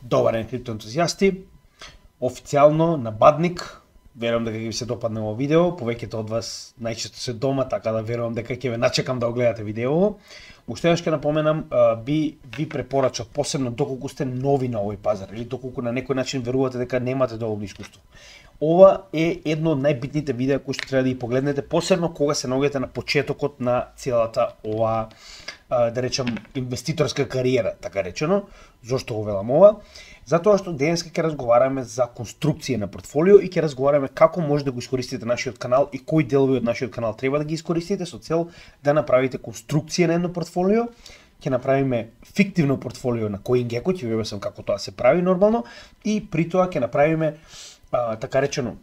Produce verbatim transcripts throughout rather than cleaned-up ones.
Добар ден, криптоентузијасти. Официјално на Бадник, верувам дека ќе ви се допадне ово видео, повеќето од вас најчесто се дома, така да верувам дека ќе ве начекам да го гледате видео. Уште еднаш ќе напоменам, би ви препорачав, посебно доколку сте нови на овој пазар или доколку на некој начин верувате дека немате доволно искуство. Ова е едно од најбитните видеа кои што треба да ги погледнете, посебно кога се наоѓате на почетокот на целата ова, да речем, инвеститорска кариера, така речено. Зошто го велам ова? Затоа што денеска ќе разговараме за конструкција на портфолио и ќе разговараме како може да го искористите нашиот канал и кои делови од нашиот канал треба да ги искористите со цел да направите конструкција на едно портфолио. Ќе направиме фиктивно портфолио на CoinGecko, ќе ви објаснам како тоа се прави нормално, и при тоа ќе направиме а, така речено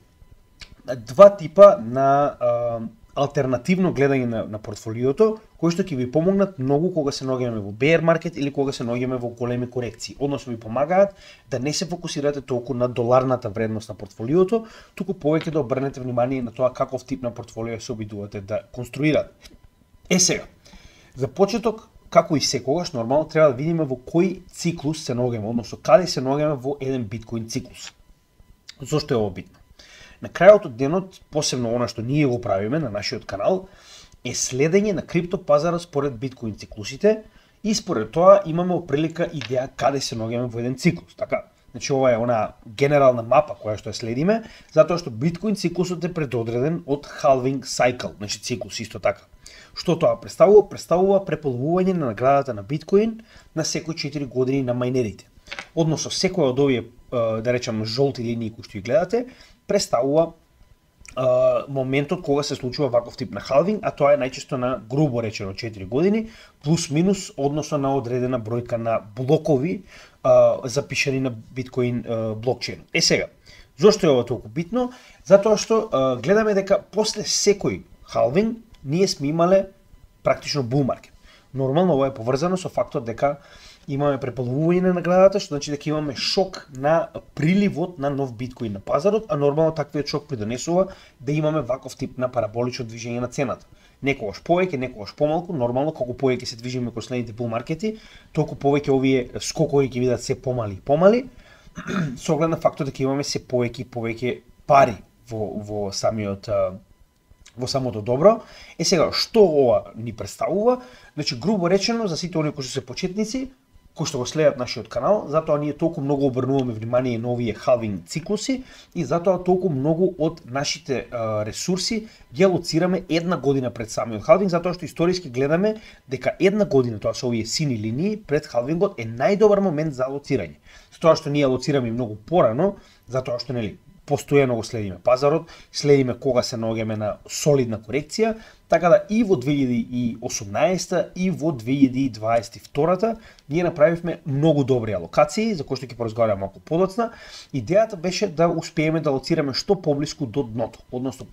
два типа на а, алтернативно гледање на, на портфолиото, кои што ќе ви помогнат многу кога се наоѓаме во bear market или кога се наоѓаме во големи корекции. Односно ви помагаат да не се фокусирате толку на доларната вредност на портфолиото, туку повеќе да обрнете внимание на тоа каков тип на портфолио се обидувате да конструирате. Е сега, за почеток, како и секогаш, нормално треба да видиме во кој циклус се наоѓаме, односно каде се наоѓаме во еден биткоин циклус. Зошто е ова битно? На крајот од денот, посебно она што ние го правиме на нашиот канал, е следење на криптопазара според биткоин циклусите и според тоа имаме прилика идеја каде се наоѓаме во еден циклус. Така, значи ова е она генерална мапа која што ја следиме, затоа што биткоин циклусот е предодреден од halving cycle, значи циклус исто така. Што тоа представува? Представува преполовување на наградата на биткоин на секои четири години на мајнерите. Односно секоја од овие, да речам, жолти линии кои што ги гледате, представува uh, моментот кога се случува ваков тип на халвинг, а тоа е најчесто на грубо речено четири години, плюс минус односно на одредена бројка на блокови uh, запишани на биткоин uh, блокчейн. Е сега, зошто е ова толку битно? Затоа што uh, гледаме дека после секој халвинг ние сме имале практично bull market. Нормално ова е поврзано со фактот дека имаме преполовување на наградата, што значи дека имаме шок на приливот на нов биткоин на пазарот, а нормално таквиот шок придонесува да имаме ваков тип на параболично движење на цената. Некогаш повеќе, некогаш помалку, нормално колку повеќе се движиме кон следните бул маркети, толку повеќе овие скокови ќе бидат се помали и помали, со оглед на фактот дека имаме се повеќе и повеќе пари во во самиот во самото добро. Е сега, што ова ни представува? Значи, грубо речено, за сите оние кои што се почетници, кои што го следат нашиот канал, затоа ние толку многу обрнуваме внимание на овие халвинг циклуси и затоа толку многу од нашите а, ресурси ги алоцираме една година пред самиот халвинг, затоа што историски гледаме дека една година, тоа се овие сини линии, пред халвингот е најдобар момент за алоцирање. Со тоа што ние алоцираме многу порано, затоа што нели постојано го следиме пазарот, следиме кога се наоѓаме на солидна корекција, така да и во две илјади и осумнаесетта и во две илјади и дваесет и втора ние направивме многу добри алокации, за кои што ќе поразговараме малку подоцна. Идејата беше да успееме да алоцираме што поблиску до дното, односно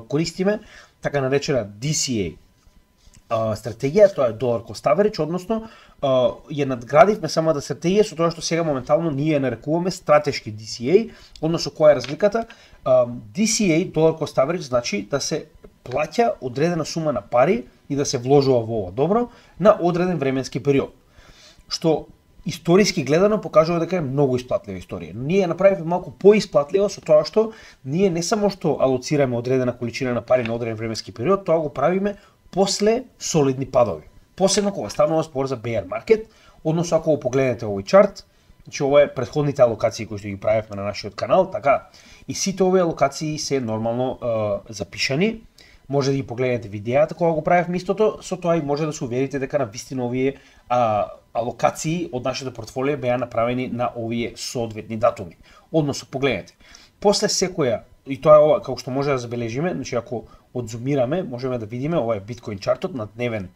користиме така наречена Ди Си Еј стратегија, тоа е долар cost average, односно ја надградивме самата стратегија со тоа што сега моментално ние ја нарекуваме стратешки Ди Си Еј, односно која е разликата? Ди Си Еј, долар cost average, значи да се плаќа одредена сума на пари и да се вложува во ова добро на одреден временски период, што историски гледано покажува дека е многу исплатлива историја. Но ние ја направивме малку поисплатлива со тоа што ние не само што алоцираме одредена количина на пари на одреден временски период, тоа го правиме после солидни падови. Посебно кога станува збор за bear market, односно ако го погледнете овој чарт, значи ова е претходните алокации кои што ги правевме на нашиот канал, така, и сите овие алокации се нормално е, запишани. Може да ги погледнете видеата кога го правевме истото, со тоа и може да се уверите дека на вистина овие а, алокации од нашето портфолио беа направени на овие соодветни датуми. Односно погледнете. После секоја, и тоа е ова како што може да забележиме, значи ако одзумираме, можеме да видиме, ова е биткоин чартот на дневен,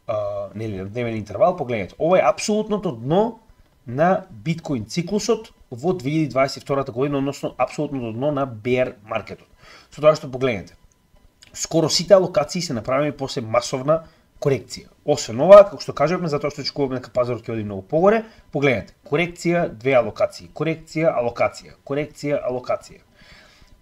а, нели, на дневен интервал, погледнете. Ова е апсолутното дно на биткоин циклусот во две илјади дваесет и втора година, односно апсолутното дно на bear маркетот. Со тоа што погледнете, скоро сите алокации се направени после масовна корекција. Освен ова, како што кажавме, затоа што очекуваме дека пазарот ќе оди многу погоре, погледнете, корекција, две алокации, корекција, алокација, корекција, алокација.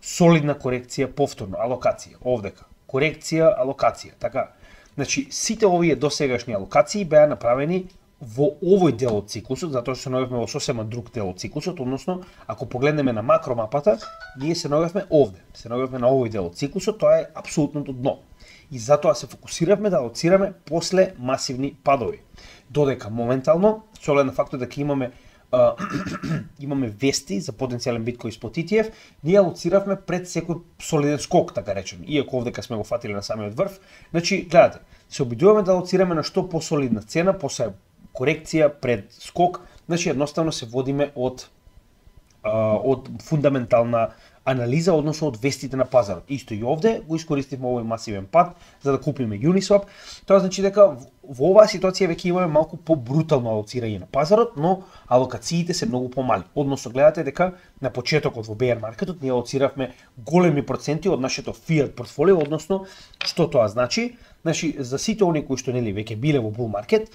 Солидна корекција, повторно, алокација, овдека, корекција, алокација, така. Значи, сите овие досегашни алокации беа направени во овој дел од циклусот, затоа што се наоѓавме во сосема друг дел од циклусот, односно, ако погледнеме на макромапата, ние се наоѓавме овде, се наоѓавме на овој дел од циклусот, тоа е апсолутното дно. И затоа се фокусиравме да алоцираме после масивни падови. Додека моментално, со оглед на фактот дека имаме Uh, имаме вести за потенцијален биткоин спот И Ти Еф, ние алоциравме пред секој солиден скок, така речем, иако овдека сме го фатиле на самиот врв. Значи, гледате, се обидуваме да алоцираме на што посолидна цена, после корекција, пред скок, значи едноставно се водиме од uh, од фундаментална анализа, односно од вестите на пазарот. Исто и овде го искористивме овој масивен пад за да купиме Uniswap. Тоа значи дека во оваа ситуација веќе имаме малку побрутално алоцирање на пазарот, но алокациите се многу помали. Односно гледате дека на почетокот во bear маркетот ние алоциравме големи проценти од нашето fiat портфолио, односно што тоа значи? Значи за сите оние кои што нели веќе биле во bull маркет,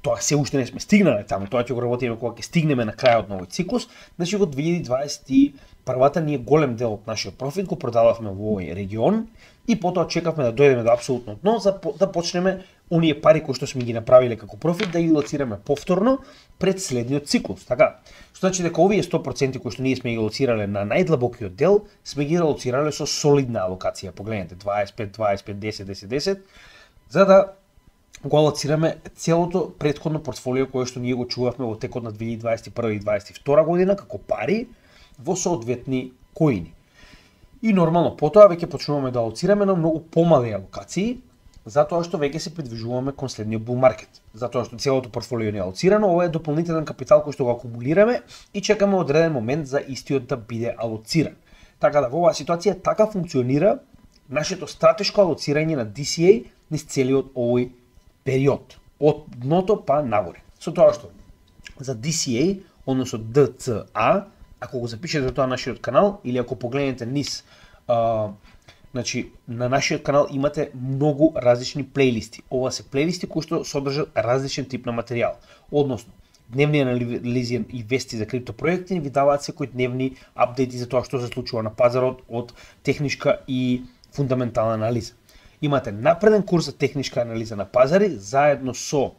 тоа се уште не сме стигнале таму, тоа ќе го работиме кога ќе стигнеме на крајот на овој циклус. Значи во две илјади дваесет и првата ние голем дел од нашиот профит го продававме во овој регион и потоа чекавме да дојдеме до апсолутно дно за да почнеме оние пари кои што сме ги направиле како профит да ги лоцираме повторно пред следниот циклус, така? Што значи дека овие сто проценти кои што ние сме ги лоцирале на најдлабокиот дел, сме ги лоцирале со солидна алокација. Погледнете дваесет и пет, дваесет и пет, десет, десет, десет, за да го алоцираме целото претходно портфолио кое што ние го чувавме во текот на две илјади дваесет и прва и дваесет и втора година како пари во соодветни коини. И нормално потоа веќе почнуваме да алоцираме на многу помали алокации, затоа што веќе се придвижуваме кон следниот bull маркет. Затоа што целото портфолио не е алоцирано, ова е дополнителен капитал кој што го акумулираме и чекаме одреден момент за истиот да биде алоциран. Така да во оваа ситуација така функционира нашето стратешко алоцирање на Ди Си Ей низ целиот овој период, од дното па нагоре. Со тоа што за Ди Си Ей, односно Ди Ци А, ако го запишете тоа на нашиот канал или ако погледнете низ, а, значи на нашиот канал имате многу различни плейлисти. Ова се плейлисти кои што содржат различен тип на материјал. Односно, дневни анализи и вести за криптопроекти ви даваат секој дневни апдети за тоа што се случува на пазарот од техничка и фундаментална анализа. Имате напреден курс за техничка анализа на пазари заедно со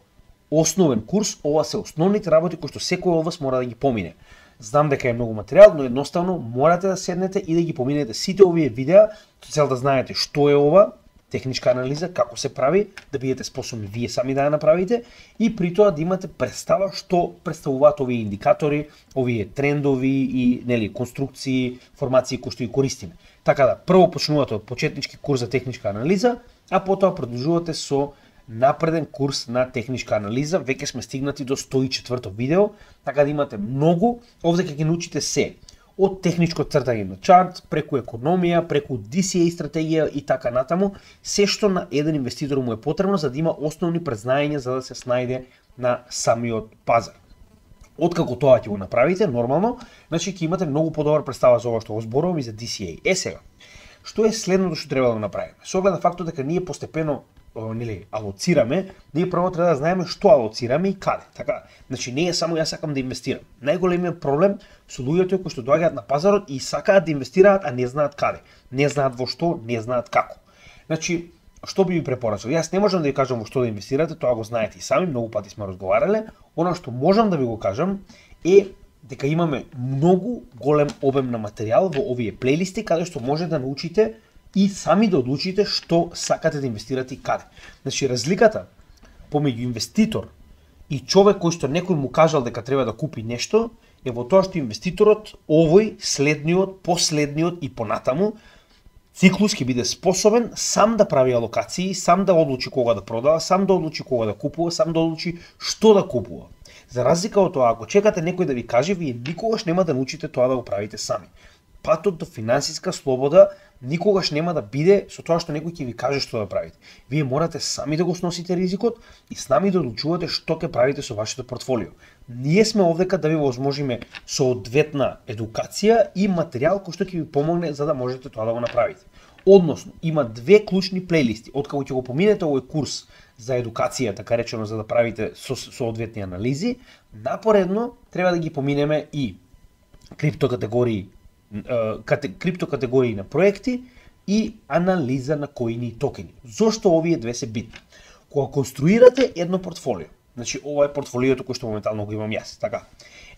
основен курс. Ова се основните работи кои што секој од вас мора да ги помине. Знам дека е многу материјал, но едноставно морате да седнете и да ги поминете сите овие видеа со цел да знаете што е ова техничка анализа, како се прави, да бидете способни вие сами да ја направите и при тоа да имате представа што представуваат овие индикатори, овие трендови и нели конструкции, формации кои што ги користиме. Така да, прво почнувате од почетнички курс за техничка анализа, а потоа продолжувате со напреден курс на техничка анализа. Веќе сме стигнати до сто и четврто видео, така да имате многу. Овде ќе ги научите се од техничко цртање на чарт, преку економија, преку Ди Си Ей стратегија и така натаму, се што на еден инвеститор му е потребно за да има основни презнаења за да се снајде на самиот пазар. Откако тоа ќе го направите, нормално, значи ќе имате многу подобра представа за ова што го зборувам и за Ди Си Ей. Е сега, што е следното што треба да направиме? Со оглед на фактот дека ние постепено нели алоцираме, ние прво треба да знаеме што алоцираме и каде. Така, значи не е само јас сакам да инвестирам. Најголемиот проблем со луѓето кои што доаѓаат на пазарот и сакаат да инвестираат, а не знаат каде. Не знаат во што, не знаат како. Значи, што би ви препорачал? Јас не можам да ви кажам во што да инвестирате, тоа го знаете и сами, многу пати сме разговарале. Она што можам да ви го кажам е дека имаме многу голем обем на материјал во овие плейлисти каде што може да научите и сами да одлучите што сакате да инвестирате и каде. Значи, разликата помеѓу инвеститор и човек кој што некој му кажал дека треба да купи нешто е во тоа што инвеститорот овој, следниот, последниот и понатаму циклус ќе биде способен сам да прави алокации, сам да одлучи кога да продава, сам да одлучи кога да купува, сам да одлучи што да купува. За разлика од тоа, ако чекате некој да ви каже, вие никогаш нема да научите тоа да го правите сами. Патот до финансиска слобода никогаш нема да биде со тоа што некој ќе ви каже што да правите. Вие морате сами да го сносите ризикот и сами да одлучувате што ќе правите со вашето портфолио. Ние сме овдека да ви возможиме соодветна едукација и материјал кој што ќе ви помогне за да можете тоа да го направите. Односно, има две клучни плейлисти. Откако ќе го поминете овој курс за едукација, така речено, за да правите соодветни анализи, напоредно треба да ги поминеме и криптокатегории криптокатегории на проекти и анализа на коини и токени. Зошто овие две се битни? Кога конструирате едно портфолио, Значи ова е портфолиото кој што моментално го имам јас, така.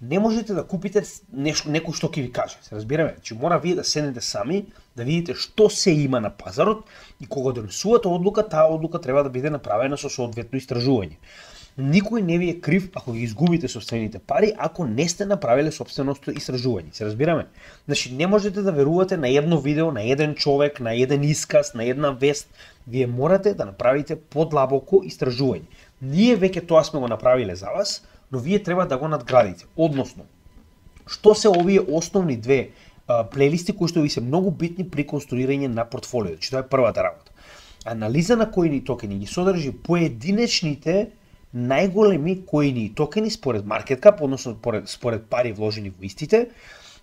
Не можете да купите нешто некој што ќе ви каже. Се разбираме, че мора вие да седнете сами, да видите што се има на пазарот и кога донесувате одлука, таа одлука треба да биде направена со соодветно истражување. Никој не ви е крив ако ги изгубите собствените пари, ако не сте направиле собственото истражување. Се разбираме? Значи не можете да верувате на едно видео, на еден човек, на еден исказ, на една вест. Вие морате да направите подлабоко истражување. Ние веќе тоа сме го направиле за вас, но вие треба да го надградите. Односно, што се овие основни две а, плейлисти кои што ви се многу битни при конструирање на портфолио. Че тоа е првата работа. Анализа на коини токени ги содржи поединечните најголеми коини и токени според маркет кап, односно според, според пари вложени во истите,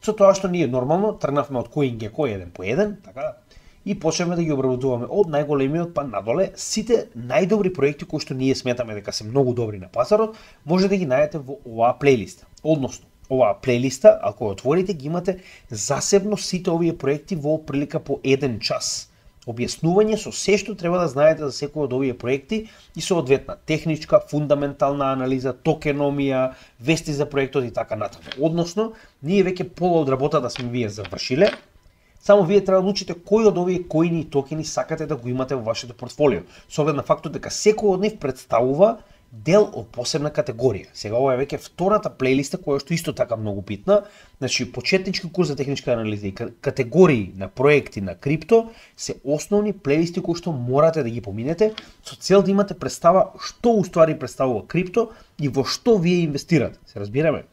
со тоа што ние нормално тргнавме од CoinGecko еден по еден, така, и почнеме да ги обработуваме од најголемиот па надоле. Сите најдобри проекти кои што ние сметаме дека се многу добри на пазарот, може да ги најдете во оваа плейлиста. Односно, оваа плейлиста, ако ја отворите, ги имате засебно сите овие проекти во прилика по еден час. Објаснување со се што треба да знаете за секој од овие проекти и соодветна техничка, фундаментална анализа, токеномија, вести за проектот и така натаму. Односно, ние веќе пола од работата сме вие завршиле. Само вие треба да научите кој од овие коини и токени сакате да го имате во вашето портфолио, со оглед на фактот дека секој од нив представува дел од посебна категорија. Сега ова е веќе втората плейлиста која што исто така многу битна. Значи почетнички курс за техничка анализа и категории на проекти на крипто се основни плейлисти кои што морате да ги поминете со цел да имате представа што уствари представува крипто и во што вие инвестирате. Се разбираме?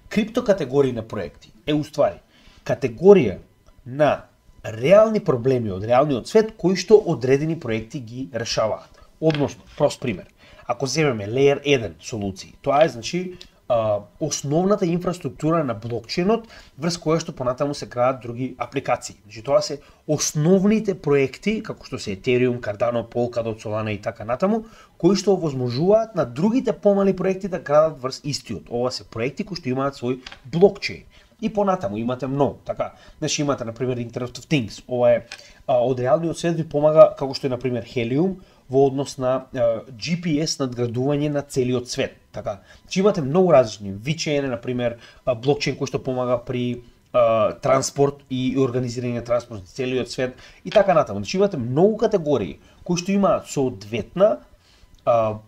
Крипто категории на проекти е уствари категорија на реални проблеми од реалниот свет кои што одредени проекти ги решаваат. Односно, прост пример. Ако земеме Layer еден солуции, тоа е значи а, основната инфраструктура на блокчейнот врз која што понатаму се градат други апликации. Значи тоа се основните проекти како што се Ethereum, Cardano, Polkadot, Solana и така натаму, кои што овозможуваат на другите помали проекти да градат врз истиот. Ова се проекти кои што имаат свој блокчейн. И понатаму имате многу, така. Значи имате на пример Internet of Things. Ова е а, од реалниот свет ви помага како што е на пример Helium во однос на а, Джи Пи Ес надградување на целиот свет, така. Значи имате многу различни ви Ч Н на пример, а, блокчейн кој што помага при а, транспорт и организирање на транспорт на целиот свет и така натаму. Значи имате многу категории кои што имаат соодветна а,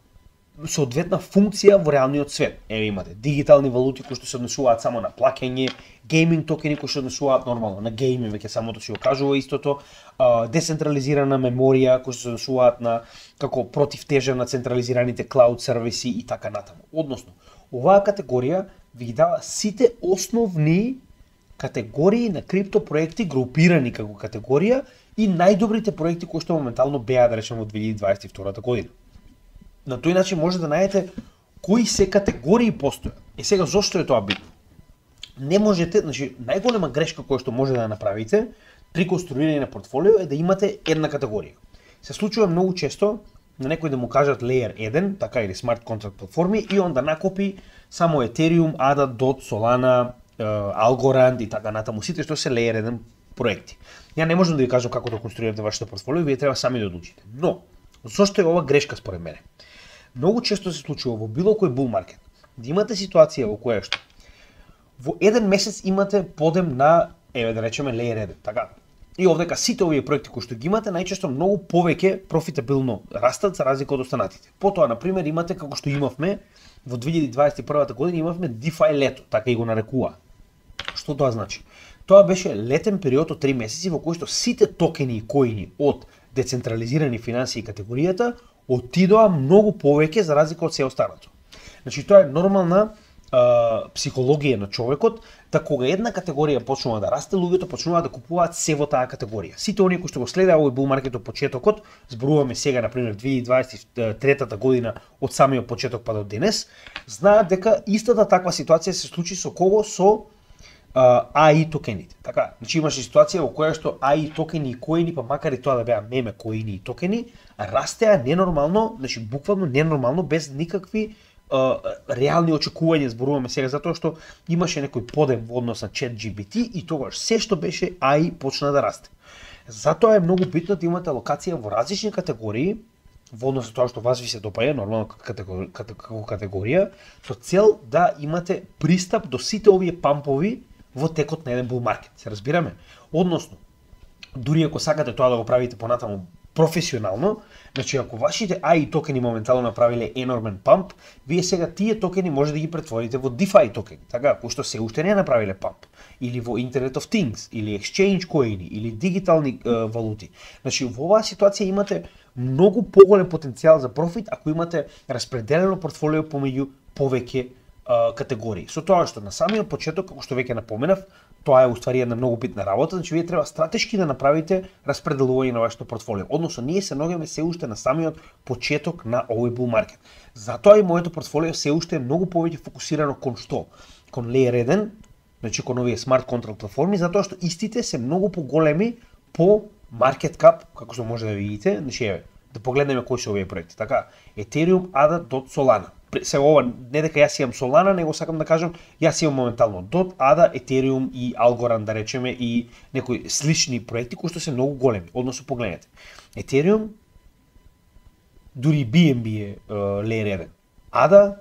соодветна функција во реалниот свет. Еве имате дигитални валути кои што се однесуваат само на плаќање, гейминг токени кои што однесуваат нормално на гейминг, веќе самото си го кажува истото, а, децентрализирана меморија кои што се однесуваат на како противтежа на централизираните клауд сервиси и така натаму. Односно, оваа категорија ви ги дава сите основни категории на крипто проекти групирани како категорија и најдобрите проекти кои што моментално беа да речеме во две илјади дваесет и втора година. На тој начин може да најдете кои се категории постојат. Е сега зошто е тоа битно? Не можете, значи најголема грешка која што може да направите при конструирање на портфолио е да имате една категорија. Се случува многу често на некој да му кажат Layer еден, така или смарт контракт платформи и он да накопи само Ethereum, A D A, Dot, Solana, Algorand и така натаму, сите што се Layer еден проекти. Ја не можам да ви кажам како да конструирате вашето портфолио, вие треба сами да одлучите. Но зошто е ова грешка според мене? Многу често се случува во било кој bull market да имате ситуација во која што во еден месец имате подем на, еве да речеме Layer еден, така. И овдека сите овие проекти кои што ги имате најчесто многу повеќе профитабилно растат за разлика од останатите. Потоа на пример имате како што имавме во две илјади дваесет и прва година имавме DeFi лето, така и го нарекува. Што тоа значи? Тоа беше летен период од три месеци во кој што сите токени и коини од децентрализирани финансии категоријата отидоа многу повеќе за разлика од се останато. Значи тоа е нормална а, психологија на човекот, да кога една категорија почнува да расте, луѓето почнуваат да купуваат се во таа категорија. Сите оние кои што го следеа овој bull market од почетокот, зборуваме сега на пример две илјади дваесет и трета година од самиот почеток па до денес, знаат дека истата таква ситуација се случи со кого? Со А И токените. Така, значи имаше ситуација во која што А И токени и коини, па макар и тоа да беа меме коини и токени, растеа ненормално, значи буквално ненормално без никакви а, реални очекувања, зборуваме сега затоа што имаше некој подем во однос на ChatGPT и тогаш се што беше А И почна да расте. Затоа е многу битно да имате алокација во различни категории во однос на тоа што вас ви се допаѓа, нормално како категорија, со цел да имате пристап до сите овие пампови во текот на еден bull market. Се разбираме? Односно, дури ако сакате тоа да го правите понатаму професионално, значи ако вашите ей ай токени моментално направиле енормен памп, вие сега тие токени може да ги претворите во DeFi токени, така, кои што се уште не направиле памп, или во Internet of Things, или Exchange коини, или дигитални е, валути. Значи во оваа ситуација имате многу поголем потенцијал за профит ако имате распределено портфолио помеѓу повеќе категории. Со тоа што на самиот почеток, како што веќе напоменав, тоа е уствари една многу битна работа, значи вие треба стратешки да направите распределување на вашето портфолио. Односно, ние се наоѓаме се уште на самиот почеток на овој bull market. Затоа и моето портфолио се уште е многу повеќе фокусирано кон што? Кон Layer еден, значи кон овие смарт контракт платформи, затоа што истите се многу поголеми по market cap, како што може да видите, значи еве, да погледнеме кои се овие проекти. Така, Ethereum, A D A, Dot, Solana. Сега ова не дека јас имам Solana, него сакам да кажам, јас имам моментално Dot, A D A, Ethereum и Algorand, да речеме, и некои слични проекти кои што се многу големи. Односно погледнете. Ethereum, дури би ен би е uh, Layer еден. A D A,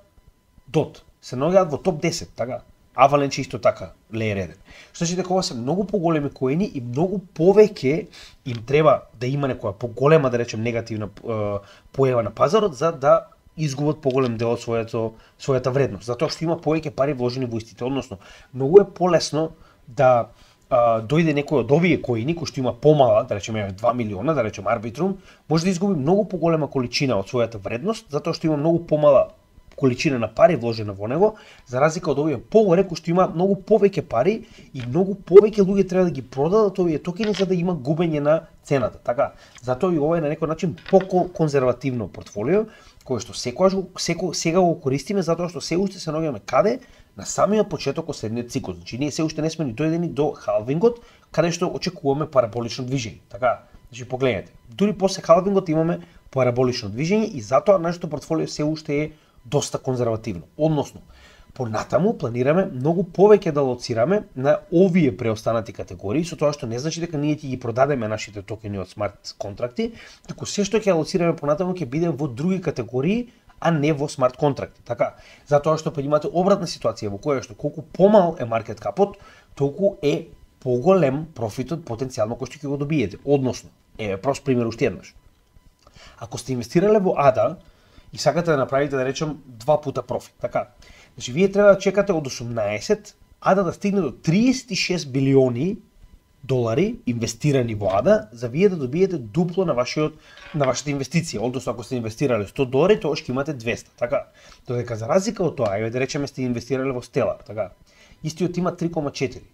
Dot се наоѓаат во топ десет, така. Avalanche исто така, Layer еден. Што значи дека ова се многу поголеми коини и многу повеќе им треба да има некоја поголема, да речем, негативна uh, појава на пазарот за да изгубат поголем дел од своето својата вредност, затоа што има повеќе пари вложени во истите. Односно, многу е полесно да а, дојде некој од овие коини кои што има помала, да речеме два милиона, да речеме Arbitrum, може да изгуби многу поголема количина од својата вредност, затоа што има многу помала количина на пари вложена во него, за разлика од овие погоре кои што има многу повеќе пари и многу повеќе луѓе треба да ги продадат овие токени за да има губење на цената. Така, затоа и ова е на некој начин по-конзервативно портфолио, кое што секогаш секо, сега го користиме затоа што се уште се наоѓаме каде на самиот почеток од следниот цикл. Значи ние се уште не сме ни дојдени до халвингот, каде што очекуваме параболично движење. Така, значи погледнете. Дури после халвингот имаме параболично движење и затоа нашето портфолио се уште е доста конзервативно. Односно, понатаму планираме многу повеќе да лоцираме на овие преостанати категории, со тоа што не значи дека ние ќе ги продадеме нашите токени од смарт контракти, туку се што ќе лоцираме понатаму ќе биде во други категории, а не во смарт контракти. Така, затоа што имате обратна ситуација во која што колку помал е маркет капот, толку е поголем профитот потенцијално кој што ќе го добиете. Односно, еве прост пример уште еднаш. Ако сте инвестирале во A D A и сакате да направите, да речем, два пута профит, така. Значи, вие треба да чекате од осумнаесет, A D A да стигне до триесет и шест билиони долари инвестирани во A D A, за вие да добиете дупло на вашиот на вашата инвестиција. Односно, ако сте инвестирале сто долари, тоа ќе имате двесте, така. Додека за разлика од тоа, еве да речеме сте инвестирале во Stellar, така. Истиот има три кома четири.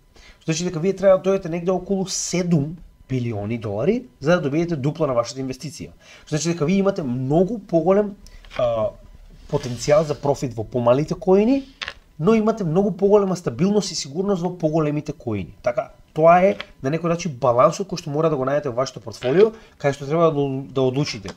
Значи дека вие треба да дојдете негде околу седум билиони долари за да добиете дупло на вашата инвестиција. Значи дека вие имате многу поголем а, потенцијал за профит во помалите коини, но имате многу поголема стабилност и сигурност во поголемите коини. Така, тоа е на некој начин балансот кој што мора да го најдете во вашето портфолио, кај што треба да одлучите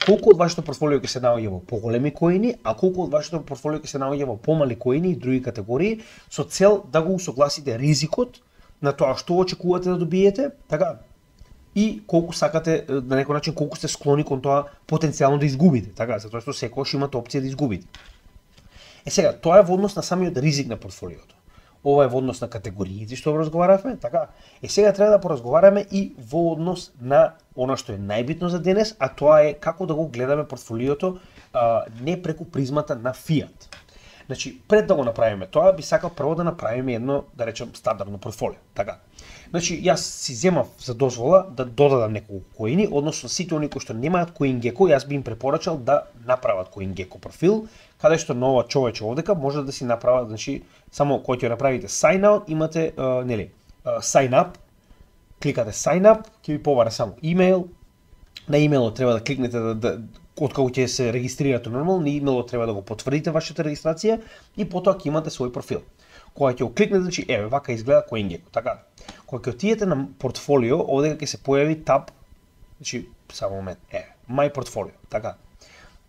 колку од вашето портфолио ќе се наоѓа во поголеми коини, а колку од вашето портфолио ќе се наоѓа во помали коини и други категории, со цел да го усогласите ризикот на тоа што очекувате да добиете, така, и колку сакате, на некој начин, колку сте склони кон тоа потенцијално да изгубите, така, затоа што секогаш имате опција да изгубите. Е сега, тоа е во однос на самиот ризик на портфолиото. Ова е во однос на категориите што разговаравме, така. Е сега треба да поразговараме и во однос на она што е најбитно за денес, а тоа е како да го гледаме портфолиото а, не преку призмата на фиат. Значи, пред да го направиме тоа, би сакал прво да направиме едно, да речем, стандардно портфолио. Така. Значи, јас си земав за дозвола да додадам неколку коини, односно сите оние кои што немаат CoinGecko, јас би им препорачал да направат CoinGecko профил, каде што нова човече овдека може да си направат, значи, само кога ќе направите sign out, имате, uh, нели, uh, sign up, кликате sign up, ќе ви побара само имејл, на имејлот треба да кликнете да, да откако ќе се регистрирате нормално, на имејлот треба да го потврдите вашата регистрација и потоа ќе имате свој профил. Кога ќе го кликнете, значи, еве, вака изгледа CoinGecko, така. Кога ќе отидете на портфолио, овде ќе се појави таб, значи, само момент, е, My Portfolio, така.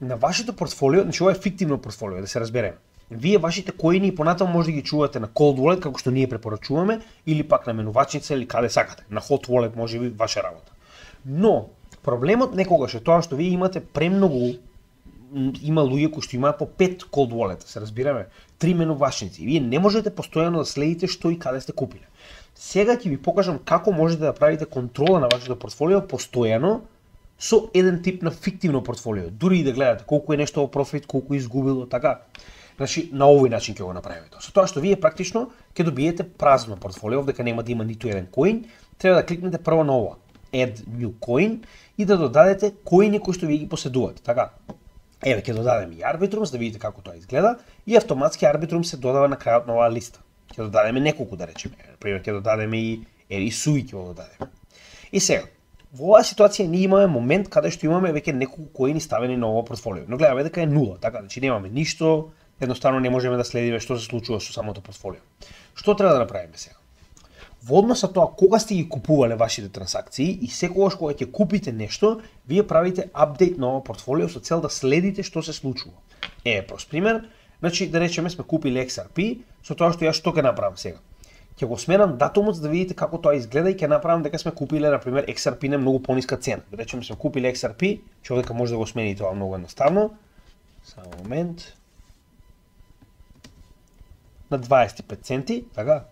На вашето портфолио, значи ова е фиктивно портфолио, да се разбереме. Вие вашите коини и понатаму може да ги чувате на Cold Wallet, како што ние препорачуваме, или пак на менувачница или каде сакате. На Hot Wallet може би ваша работа. Но, Проблемот некогаш е тоа што вие имате премногу, има луѓе кои што имаат по пет cold wallet, се разбираме, три менувачници. Вие не можете постојано да следите што и каде сте купиле. Сега ќе ви покажам како можете да правите контрола на вашето портфолио постојано со еден тип на фиктивно портфолио. Дури и да гледате колку е нешто во профит, колку е изгубило, така. Значи, на овој начин ќе го направите. Со тоа што вие практично ќе добиете празно портфолио, дека нема да има ниту еден коин, треба да кликнете прво на ова, Add New Coin, и да додадете коини кои што вие ги поседувате, така. Еве, ќе додадеме и Arbitrum, за да видите како тоа изгледа, и автоматски Arbitrum се додава на крајот на оваа листа. Ќе додадеме неколку, да речеме. Например, ќе додадеме и Ери Суи ќе го додадеме. И сега, во оваа ситуација ние имаме момент каде што имаме веќе неколку коини ставени на ова портфолио. Но гледаме дека е нула, така, значи немаме ништо, едноставно не можеме да следиме што се случува со самото портфолио. Што треба да направиме сега? Во однос со тоа кога сте ги купувале вашите трансакции и секогаш кога ќе купите нешто, вие правите апдейт на ова портфолио со цел да следите што се случува. Е, прост пример, значи да речеме сме купили Икс Ар Пи, со тоа што јас што ќе направам сега? Ќе го сменам датумот за да видите како тоа изгледа и ќе направам дека сме купиле на пример Икс Ар Пи на многу пониска цена. Да речеме сме купиле Икс Ар Пи, човека може да го смени тоа многу едноставно. Само момент. На дваесет и пет центи, така?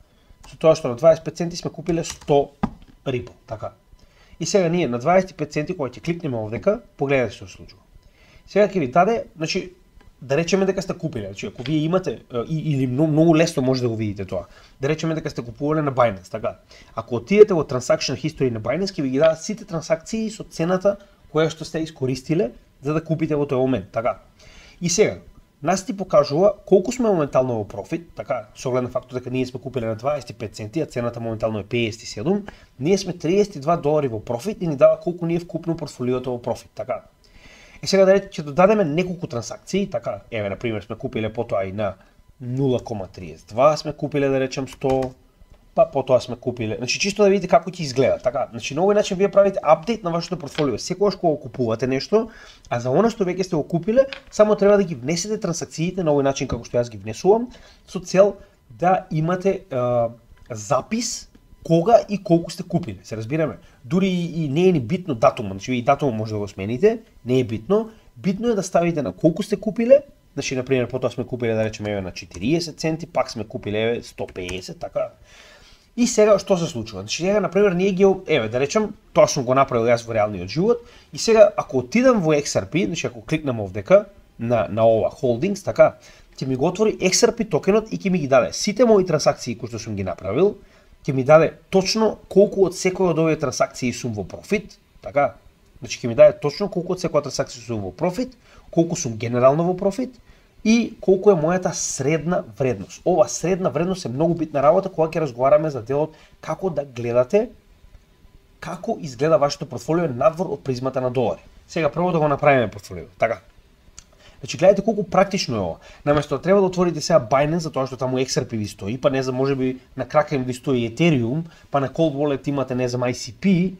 Со тоа што на дваесет и пет центи сме купиле сто Ripple, така. И сега ние на дваесет и пет центи кога ќе кликнеме овдека, погледнете што се случува. Сега ќе ви даде, значи да речеме дека сте купиле, значи ако вие имате и, или многу, многу лесно може да го видите тоа. Да речеме дека сте купувале на Binance, така. Ако отидете во Transaction History на Binance, ќе ви ги дадат сите трансакции со цената која што сте искористиле за да купите во тој момент, така. И сега нас ти покажува колку сме моментално во профит, така, со оглед на фактот дека ние сме купиле на дваесет и пет центи, а цената моментално е педесет и седум, ние сме триесет и два долари во профит и ни дава колку ние вкупно портфолиото во профит, така. И сега да речеме ќе додадеме неколку трансакции, така, еве на пример сме купиле потоа и на нула кома триесет и два, сме купиле да речем сто, па потоа сме купиле. Значи чисто да видите како ќе изгледа, така. Значи на овој начин вие правите апдейт на вашето портфолио. Секогаш кога купувате нешто, а за она што веќе сте го купиле, само треба да ги внесете трансакциите на овој начин како што јас ги внесувам, со цел да имате е, запис кога и колку сте купиле. Се разбираме. Дури и, и не е ни битно датумот, значи и датумот може да го смените, не е битно. Битно е да ставите на колку сте купиле. Значи на пример потоа сме купиле да речеме еве на четириесет центи, пак сме купиле еве сто педесет, така. И сега што се случува? Значи сега на пример ние ги еве да речем тоа сум го направил јас во реалниот живот и сега ако отидам во Икс Ар Пи, значи ако кликнам овдека на на ова Holdings, така, ќе ми го отвори Икс Ар Пи токенот и ќе ми ги даде сите мои трансакции кои што сум ги направил, ќе ми даде точно колку од секоја од овие трансакции сум во профит, така? Значи ќе ми даде точно колку од секоја трансакција сум во профит, колку сум генерално во профит и колку е мојата средна вредност. Ова средна вредност е многу битна работа кога ќе разговараме за делот како да гледате како изгледа вашето портфолио надвор од призмата на долари. Сега прво да го направиме портфолио, така. Значи гледате колку практично е ова. Наместо да треба да отворите сега Binance затоа што таму Икс Ар Пи ви стои, па не знам можеби на Kraken ви стои Ethereum, па на Cold Wallet имате не знам Ай Си Пи,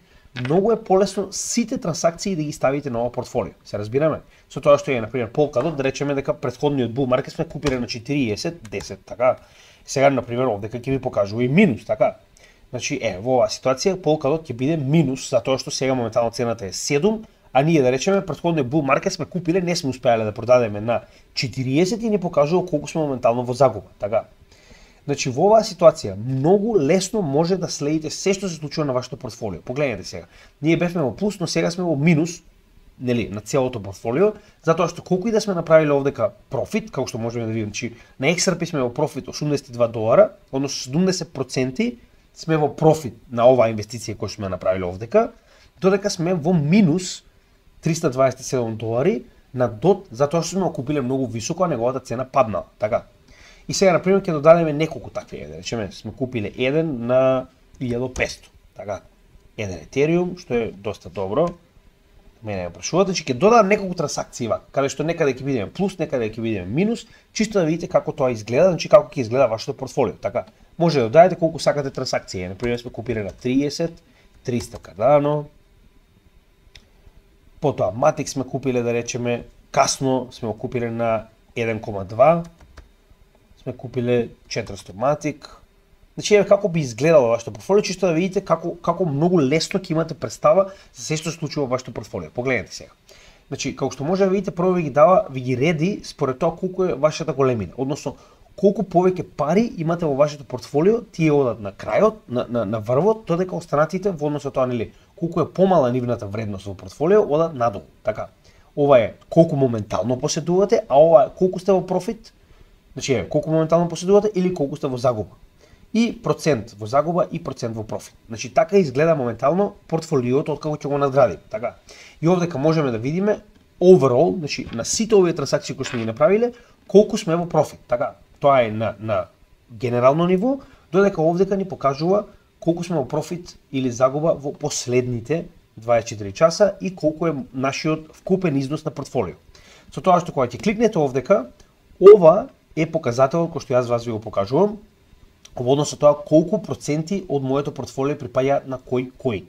многу е полесно сите трансакции да ги ставите на ова портфолио. Се разбираме? Со тоа што е на пример Polkadot, да речеме дека претходниот bull market сме купиле на четириесет, десет, така. Сега на пример овдека ќе ви покажува и минус, така. Значи е во оваа ситуација Polkadot ќе биде минус затоа што сега моментално цената е седум, а ние да речеме претходниот bull market сме купиле, не сме успеале да продадеме на четириесет и ни покажува колку сме моментално во загуба, така. Значи во оваа ситуација многу лесно може да следите се што се случува на вашето портфолио. Погледнете сега. Ние бевме во плюс, но сега сме во минус, нели, на целото портфолио, затоа што колку и да сме направиле овдека профит, како што можеме да видиме, значи на Икс Ар Пи сме во профит осумдесет и два долара, односно седумдесет проценти сме во профит на оваа инвестиција која сме направиле овдека, додека сме во минус триста дваесет и седум долари на дот затоа што сме купиле многу високо, а неговата цена паднала, така. И сега на пример ќе додадеме неколку такви, да речеме сме купиле еден на илјада и петстотини, така. Еден Ethereum, што е доста добро. Мене ме прашувате, че ќе додадам неколку трансакции вака, каде што некаде ќе видиме плюс, некаде ќе видиме минус, чисто да видите како тоа изгледа, значи како ќе изгледа вашето портфолио, така. Може да додадете колку сакате трансакции, на пример сме купиле на триесет, триста Cardano. Потоа Matic сме купиле да речеме, касно сме го купиле на еден кома два. Сме купиле четиристотини Matic, Значи еве како би изгледало вашето портфолио, чисто да видите како како многу лесно ќе имате представа за се што се случува во вашето портфолио. Погледнете сега. Значи, како што може да видите, прво ви ги дава, ви ги реди според тоа колку е вашата големина, односно колку повеќе пари имате во вашето портфолио, тие одат на крајот, на на, на врвот, додека останатите во однос на тоа, нели, колку е помала нивната вредност во портфолио, одат надолу. Така. Ова е колку моментално поседувате, а ова е колку сте во профит. Значи, е колку моментално поседувате или колку сте во загуба. И процент во загуба и процент во профит. Значи така изгледа моментално портфолиото откако ќе го надградиме, така. И овдека можеме да видиме overall, значи на сите овие трансакции кои сме ги направиле, колку сме во профит, така. Тоа е на на генерално ниво, додека овдека ни покажува колку сме во профит или загуба во последните дваесет и четири часа и колку е нашиот вкупен износ на портфолио. Со тоа што кога ќе кликнете овдека, ова е показателот кој што јас вас ви го покажувам, во однос на тоа колку проценти од моето портфолио припаѓаат на кој кој.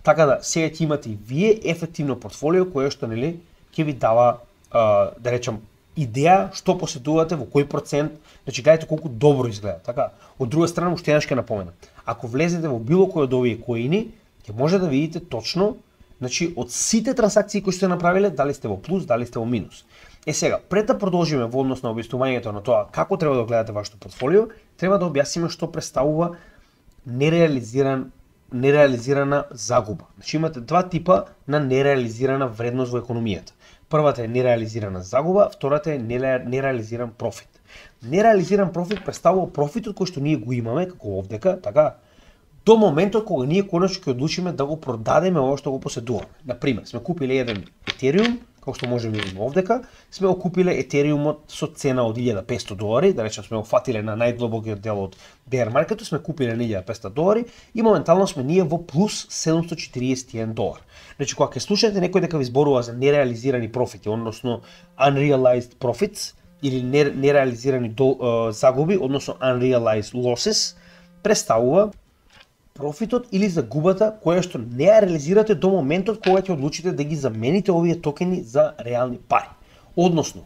Така да сега ќе имате и вие ефективно портфолио кое што, нели, ќе ви дава, а, да речам, идеја што поседувате во кој процент, значи гледате колку добро изгледа. Така, од друга страна уште еднаш ќе напомена. Ако влезете во било кој од овие коини, ќе може да видите точно, значи од сите трансакции кои сте направиле, дали сте во плюс, дали сте во минус. Е сега, пред да продолжиме во однос на објаснувањето на тоа како треба да гледате вашето портфолио, треба да објасниме што представува нереализиран нереализирана загуба. Значи имате два типа на нереализирана вредност во економијата. Првата е нереализирана загуба, втората е нереализиран профит. Нереализиран профит представува профитот кој што ние го имаме како овдека, така, до моментот кога ние конечно ќе одлучиме да го продадеме ова што го поседуваме. Например, сме купиле еден Ethereum, како што можеме да видиме овдека, сме го купиле Етериумот со цена од илјада и петсто долари, да речем сме го фатиле на најдлобокиот дел од bear market, сме купиле на илјада и петсто долари и моментално сме ние во плюс седумстотини и четириесет и еден долар. Значи кога ќе слушате некој дека ви зборува за нереализирани профити, односно unrealized profits или нереализирани загуби, односно unrealized losses, представува профитот или загубата која што не ја реализирате до моментот кога ќе одлучите да ги замените овие токени за реални пари. Односно,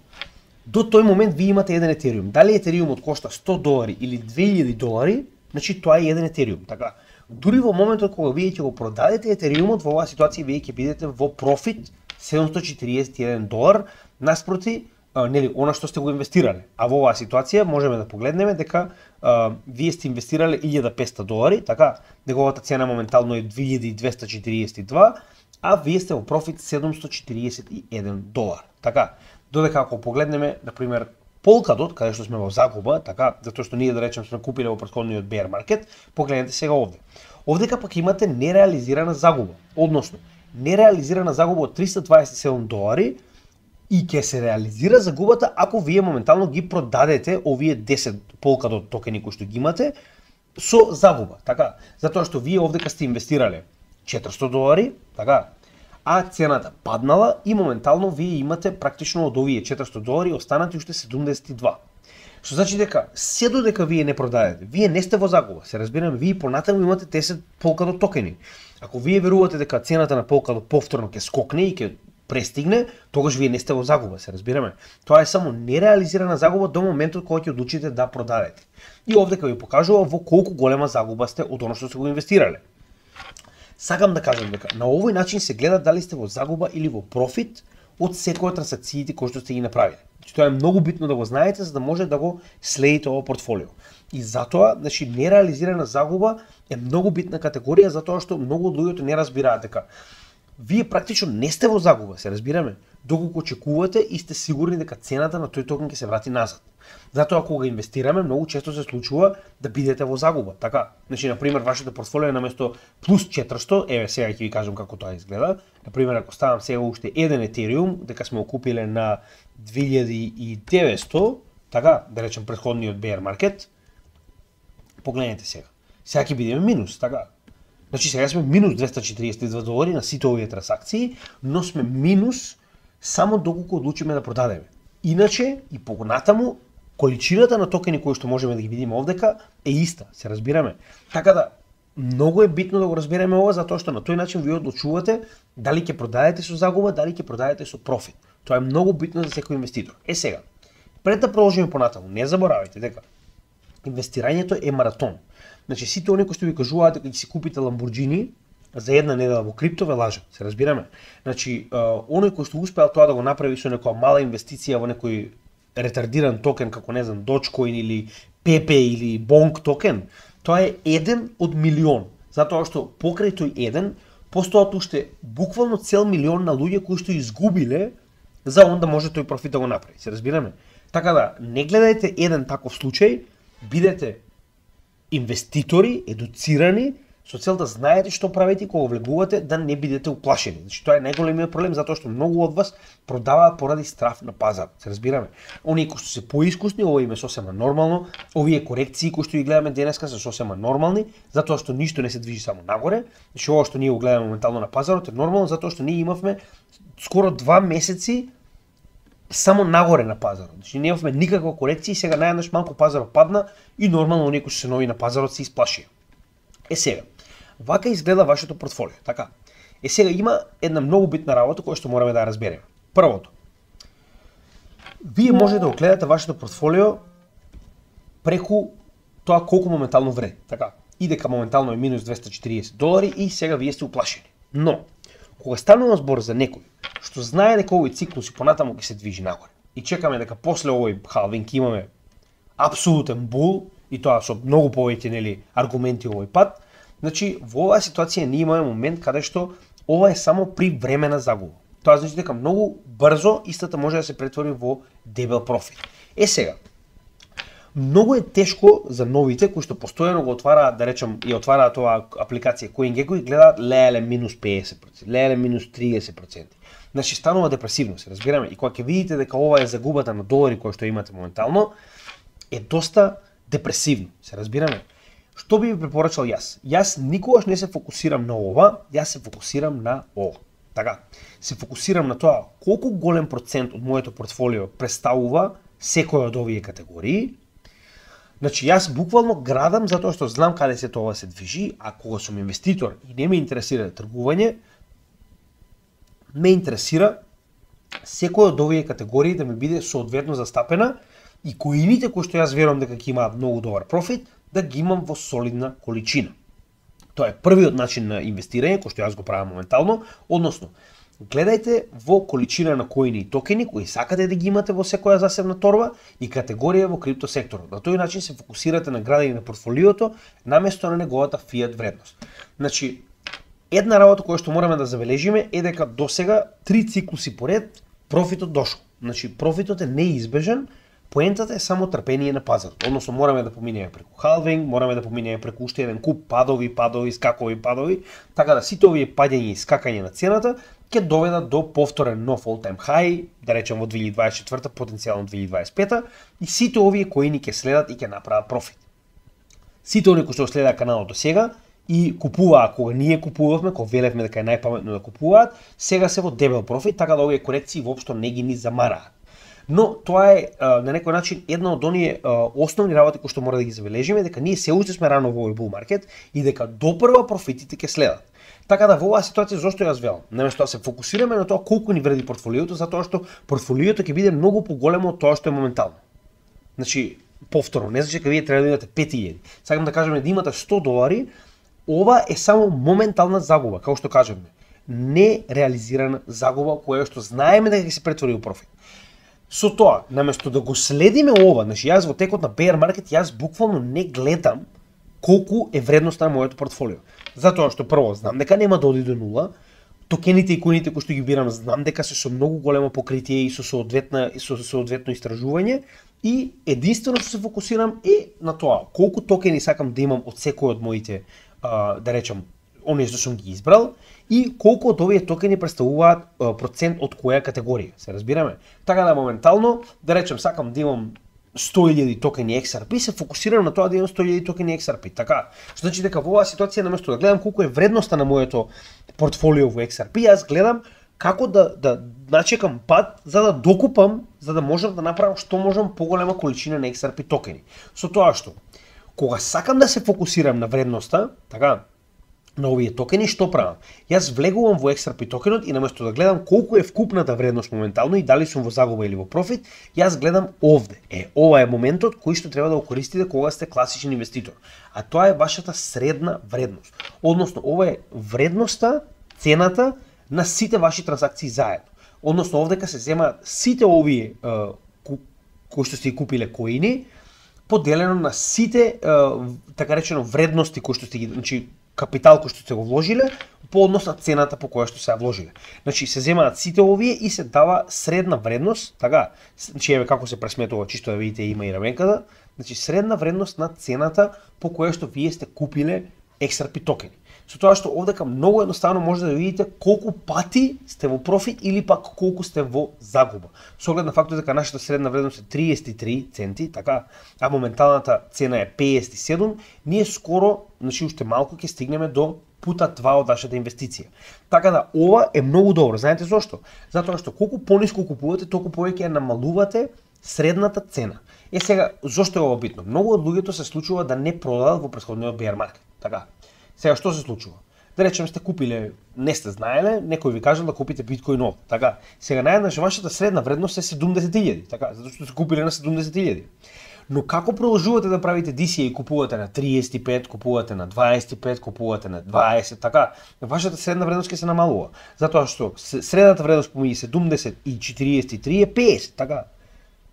до тој момент ви имате еден Етериум. Дали Етериумот кошта сто долари или две илјади долари, значи тоа е еден Етериум. Така, дури во моментот кога вие ќе го продадете Етериумот, во оваа ситуација вие ќе бидете во профит седумстотини и четириесет и еден долар наспроти а, нели она што сте го инвестирале. А во оваа ситуација можеме да погледнеме дека а, вие сте инвестирале илјада и петсто долари, така, неговата цена моментално е две илјади двесте четириесет и два, а вие сте во профит седумстотини и четириесет и еден долар. Така, додека ако погледнеме, например, Polkadot, каде што сме во загуба, така, затоа што ние да речем сме купиле во претходниот bear market, погледнете сега овде. Овдека пак имате нереализирана загуба, односно нереализирана загуба од триста дваесет и седум долари и ќе се реализира загубата ако вие моментално ги продадете овие десет Polkadot токени кои што ги имате со загуба, така, затоа што вие овдека сте инвестирале четиристотини долари, така, а цената паднала и моментално вие имате практично од овие четиристотини долари останати уште седумдесет и два. Што значи дека се додека вие не продадете, вие не сте во загуба. Се разбираме, вие понатаму имате десет Polkadot токени. Ако вие верувате дека цената на Polkadot повторно ќе скокне и ќе престигне, тогаш вие не сте во загуба, се разбираме. Тоа е само нереализирана загуба до моментот кога ќе одлучите да продадете. И овдека ви покажува во колку голема загуба сте од оно што сте го инвестирале. Сакам да кажам дека на овој начин се гледа дали сте во загуба или во профит од секоја трансакциите кои што сте ги направиле. Значи тоа е многу битно да го знаете за да може да го следите ово портфолио. И затоа, значи нереализирана загуба е многу битна категорија затоа што многу од луѓето не разбираат дека вие практично не сте во загуба, се разбираме, доколку очекувате и сте сигурни дека цената на тој токен ќе се врати назад. Затоа кога инвестираме, многу често се случува да бидете во загуба. Така, значи на пример вашето портфолио наместо плюс четиристотини, еве сега ќе ви кажам како тоа изгледа. На пример ако ставам сега уште еден Ethereum, дека сме го купиле на две илјади и деветсто, така, да речем претходниот bear market, погледнете сега. Сега ќе бидеме минус, така. Значи сега сме минус двесте четириесет и два долари на сите овие трансакции, но сме минус само доколку одлучиме да продадеме. Иначе и понатаму количината на токени кои што можеме да ги видиме овдека е иста, се разбираме. Така да многу е битно да го разбереме ова затоа што на тој начин вие одлучувате дали ќе продадете со загуба, дали ќе продадете со профит. Тоа е многу битно за секој инвеститор. Е сега, пред да продолжиме понатаму, не заборавајте дека инвестирањето е маратон. Значи сите оние кои што ви кажуваат дека ќе си купите Lamborghini за една недела во крипто ве лажат, се разбираме. Значи, оној кој што успеал тоа да го направи со некоја мала инвестиција во некој ретардиран токен како не знам Dogecoin или Pepe или Bonk токен, тоа е еден од милион. Затоа што покрај тој еден постојат уште буквално цел милион на луѓе кои што изгубиле за он да може тој профит да го направи. Се разбираме? Така да не гледајте еден таков случај, бидете инвеститори, едуцирани, со цел да знаете што правите кога влегувате, да не бидете уплашени. Значи тоа е најголемиот проблем затоа што многу од вас продаваат поради страф на пазар. Се разбираме? Оние кои што се поискусни, ова им е сосема нормално, овие корекции кои што ги гледаме денеска се сосема нормални, затоа што ништо не се движи само нагоре. Значи ова што ние го гледаме моментално на пазарот е нормално затоа што ние имавме скоро два месеци само нагоре на пазарот. Значи не имавме никаква корекција, сега наједнаш малку пазарот падна и нормално оние кои што се нови на пазарот се исплашија. Е сега, вака изгледа вашето портфолио, така? Е сега има една многу битна работа која што мораме да ја разбереме. Првото, вие можете да го гледате вашето портфолио преку тоа колку моментално вреди, така? И дека моментално е минус двесте и четириесет долари и сега вие сте уплашени. Но, кога станува збор за некој што знае дека овој циклус и понатаму ќе се движи нагоре и чекаме дека после овој халвинг имаме апсолутен бул и тоа со многу повеќе нели аргументи овој пат, значи во оваа ситуација ние имаме момент каде што ова е само при времена загуба. Тоа значи дека многу брзо истата може да се претвори во дебел профит. Е сега, многу е тешко за новите кои што постојано го отвараат, да речем, и отвараат оваа апликација CoinGecko и гледаат леле минус педесет проценти, леле минус триесет проценти. Значи станува депресивно, се разбираме, и кога ќе видите дека ова е загубата на долари која што имате моментално, е доста депресивно, се разбираме. Што би ви препорачал јас? Јас никогаш не се фокусирам на ова, јас се фокусирам на ова. Така, се фокусирам на тоа колку голем процент од моето портфолио представува секоја од овие категории. Значи јас буквално градам затоа што знам каде се тоа се движи, а кога сум инвеститор и не ме интересира тргување, ме интересира секој од овие категории да ми биде соодветно застапена и коините кои што јас верувам дека ќе имаат многу добар профит, да ги имам во солидна количина. Тоа е првиот начин на инвестирање кој што јас го правам моментално, односно гледајте во количина на коини и токени кои сакате да ги имате во секоја засебна торба и категорија во крипто секторот. На тој начин се фокусирате на градење на портфолиото наместо на неговата фиат вредност. Значи, една работа која што мораме да забележиме е дека досега три циклуси поред профитот дошол. Значи, профитот е неизбежен, поентата е само трпение на пазарот. Односно мораме да поминеме преку халвинг, мораме да поминеме преку уште еден куп падови, падови, скакови, падови, така да сите овие паѓања и скакање на цената ќе доведат до повторен нов all-time high, да речем во две илјади дваесет и четврта, потенцијално две илјади дваесет и пета, и сите овие коини ќе следат и ќе направат профит. Сите оние кои што следат каналот до сега и купуваа кога ние купувавме, кога велевме дека е најпаметно да купуваат, сега се во дебел профит, така да овие корекции воопшто не ги ни замараат. Но тоа е а, на некој начин една од оние а, основни работи кои што мора да ги забележиме, дека ние се уште сме рано во овој бул маркет и дека допрва профитите ќе следат. Така да во оваа ситуација зошто јас велам? Наместо да се фокусираме на тоа колку ни вреди портфолиото, затоа што портфолиото ќе биде многу поголемо од тоа што е моментално. Значи, повторно, не значи дека вие треба да имате пет илјади. Сакам да кажеме да имате сто долари, ова е само моментална загуба, како што кажеме. Нереализирана загуба која што знаеме дека ќе се претвори во профит. Со тоа, наместо да го следиме ова, значи јас во текот на bear market јас буквално не гледам колку е вредноста на моето портфолио. Затоа што прво знам дека нема да оди до нула, токените и коините кои што ги бирам знам дека се со многу големо покритие и со соодветна и со соодветно истражување и единствено што се фокусирам е на тоа колку токени сакам да имам од секој од моите а, да речам оние што сум ги избрал и колку од овие токени представуваат а, процент од која категорија, се разбираме. Така да моментално, да речем, сакам да имам сто илјади токени Икс Ар Пи, се фокусирам на тоа да имам сто илјади токени Икс Ар Пи. Така, што значи дека во оваа ситуација наместо да гледам колку е вредноста на моето портфолио во Икс Ар Пи, јас гледам како да да начекам пат за да докупам, за да можам да направам што можам поголема количина на Икс Ар Пи токени. Со тоа што кога сакам да се фокусирам на вредноста, така, на овие токени, што правам? Јас влегувам во Икс Ар Пи токенот и наместо да гледам колку е вкупната вредност моментално и дали сум во загуба или во профит, јас гледам овде. Е, ова е моментот кој што треба да го користите кога сте класичен инвеститор. А тоа е вашата средна вредност. Односно, ова е вредноста, цената на сите ваши транзакции заедно. Односно, овдека се земаат сите овие кои што сте купиле коини, поделено на сите така речено вредности кои што сте ги, значи капитал кој што сте го вложиле по однос на цената по која што се ја вложиле. Значи се земаат сите овие и се дава средна вредност, така, значи еве како се пресметува, чисто да видите има и раменката, значи средна вредност на цената по која што вие сте купиле Икс Ар Пи токени. Со тоа што овдека многу едноставно може да видите колку пати сте во профит или пак колку сте во загуба. Со оглед на фактот дека нашата средна вредност е триесет и три центи, така, а моменталната цена е педесет и седум, ние скоро, значи уште малку ќе стигнеме до пута два од нашата инвестиција. Така да ова е многу добро. Знаете зошто? Затоа што колку пониску купувате, толку повеќе ја намалувате средната цена. Е сега, зошто е ова битно? Многу од луѓето се случува да не продадат во претходниот bear маркет. Така. Сега што се случува? Да речем сте купиле, не сте знаеле, некој ви кажал да купите биткоин нов. Така. Сега наеднаш вашата средна вредност е седумдесет илјади, така, затоа што сте купиле на седумдесет илјади. Но како продолжувате да правите Ди Си Ей, купувате на триесет и пет, купувате на дваесет и пет, купувате на дваесет, така, вашата средна вредност ќе се намалува. Затоа што средната вредност помеѓу седумдесет и четириесет и три е педесет, така.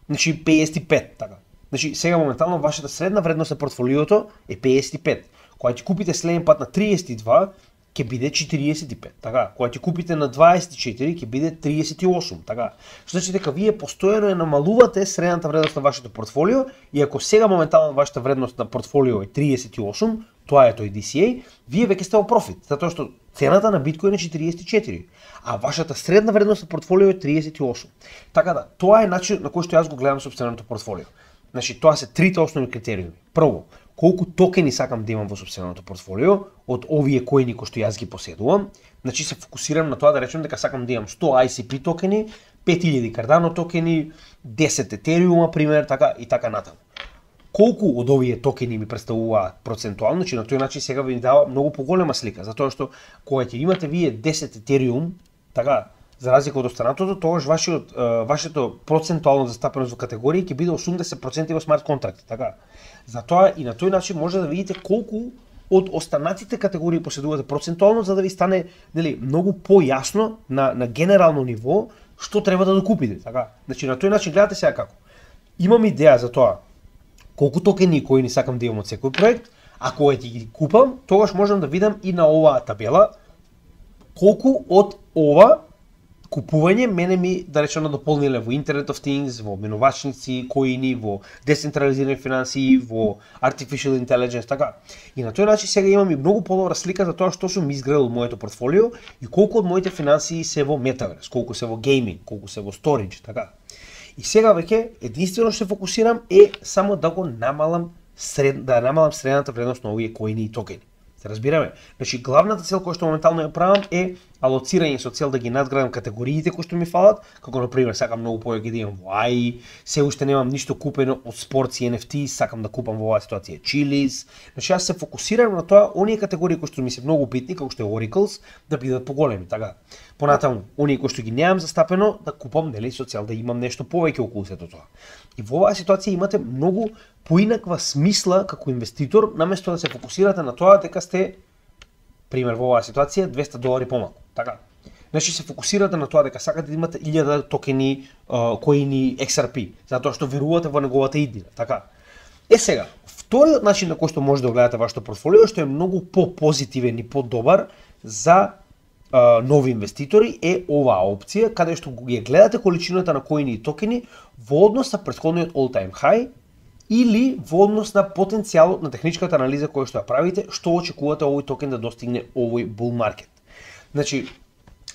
Значи педесет и пет, така. Значи сега моментално вашата средна вредност на портфолиото е педесет и пет. Кога ќе купите следен пат на триесет и два, ќе биде четириесет и пет, така. Кога ќе купите на дваесет и четири, ќе биде триесет и осум, така. Што значи дека вие постојано ја намалувате средната вредност на вашето портфолио и ако сега моментално вашата вредност на портфолио е триесет и осум, тоа е тој Ди Си Ей, вие веќе сте во профит, затоа што цената на биткоин е четириесет и четири, а вашата средна вредност на портфолио е триесет и осум. Така да, тоа е начин на кој што јас го гледам сопственото портфолио. Значи, тоа се трите основни критериуми. Прво, колку токени сакам да имам во сопственото портфолио од овие коини кои што јас ги поседувам. Значи се фокусирам на тоа да речем дека сакам да имам сто Ай Си Пи токени, пет илјади Cardano токени, десет Ethereum пример, така и така натаму. Колку од овие токени ми представуваат процентуално, значи на тој начин сега ви дава многу поголема слика, затоа што кога ќе имате вие десет Ethereum, така, за разлика од останатото, тогаш вашиот вашето процентуално застапеност во категории ќе биде осумдесет проценти во смарт контракти, така. Затоа и на тој начин може да видите колку од останатите категории поседувате процентуално, за да ви стане, нели, многу појасно на на генерално ниво што треба да докупите, така. Значи на тој начин гледате сега како. Имам идеја за тоа колку токени кои ни сакам да имам од секој проект, а кога ќе ги купам, тогаш можам да видам и на оваа табела колку од ова купување мене ми, да речено, дополниле во Internet of Things, во менувачници, коини, во децентрализирани финансии, во Artificial Intelligence, така. И на тој начин сега имам и многу подобра слика за тоа што сум изградил моето портфолио и колку од моите финансии се во Metaverse, колку се во гейминг, колку се во storage, така. И сега веќе единствено што се фокусирам е само да го намалам сред, да намалам средната вредност на овие коини и токени. Се разбираме? Значи главната цел која што моментално ја правам е алоцирање со цел да ги надградам категориите кои што ми фалат, како на пример сакам многу повеќе да имам во Ай И, се уште немам ништо купено од спортс и Ен Еф Ти, сакам да купам во оваа ситуација Chiliz. Значи јас се фокусирам на тоа оние категории кои што ми се многу битни, како што е Oracles, да бидат поголеми, така. Понатаму, оние кои што ги немам застапено, да купам, нели, со цел да имам нешто повеќе околу сето тоа. И во оваа ситуација имате многу поинаква смисла како инвеститор, наместо да се фокусирате на тоа дека сте, пример во оваа ситуација, двесте долари помалку, така. Значи се фокусирате на тоа дека сакате да имате илјада токени, коини Икс Ар Пи, затоа што верувате во неговата иднина, така. Е сега, вториот начин на кој што може да гледате вашето портфолио, што е многу по-позитивен и по-добар за а, нови инвеститори, е оваа опција, каде што ја гледате количината на коини и токени во однос на претходниот all-time high или во однос на потенцијалот на техничката анализа која што ја правите, што очекувате овој токен да достигне овој bull market. Значи,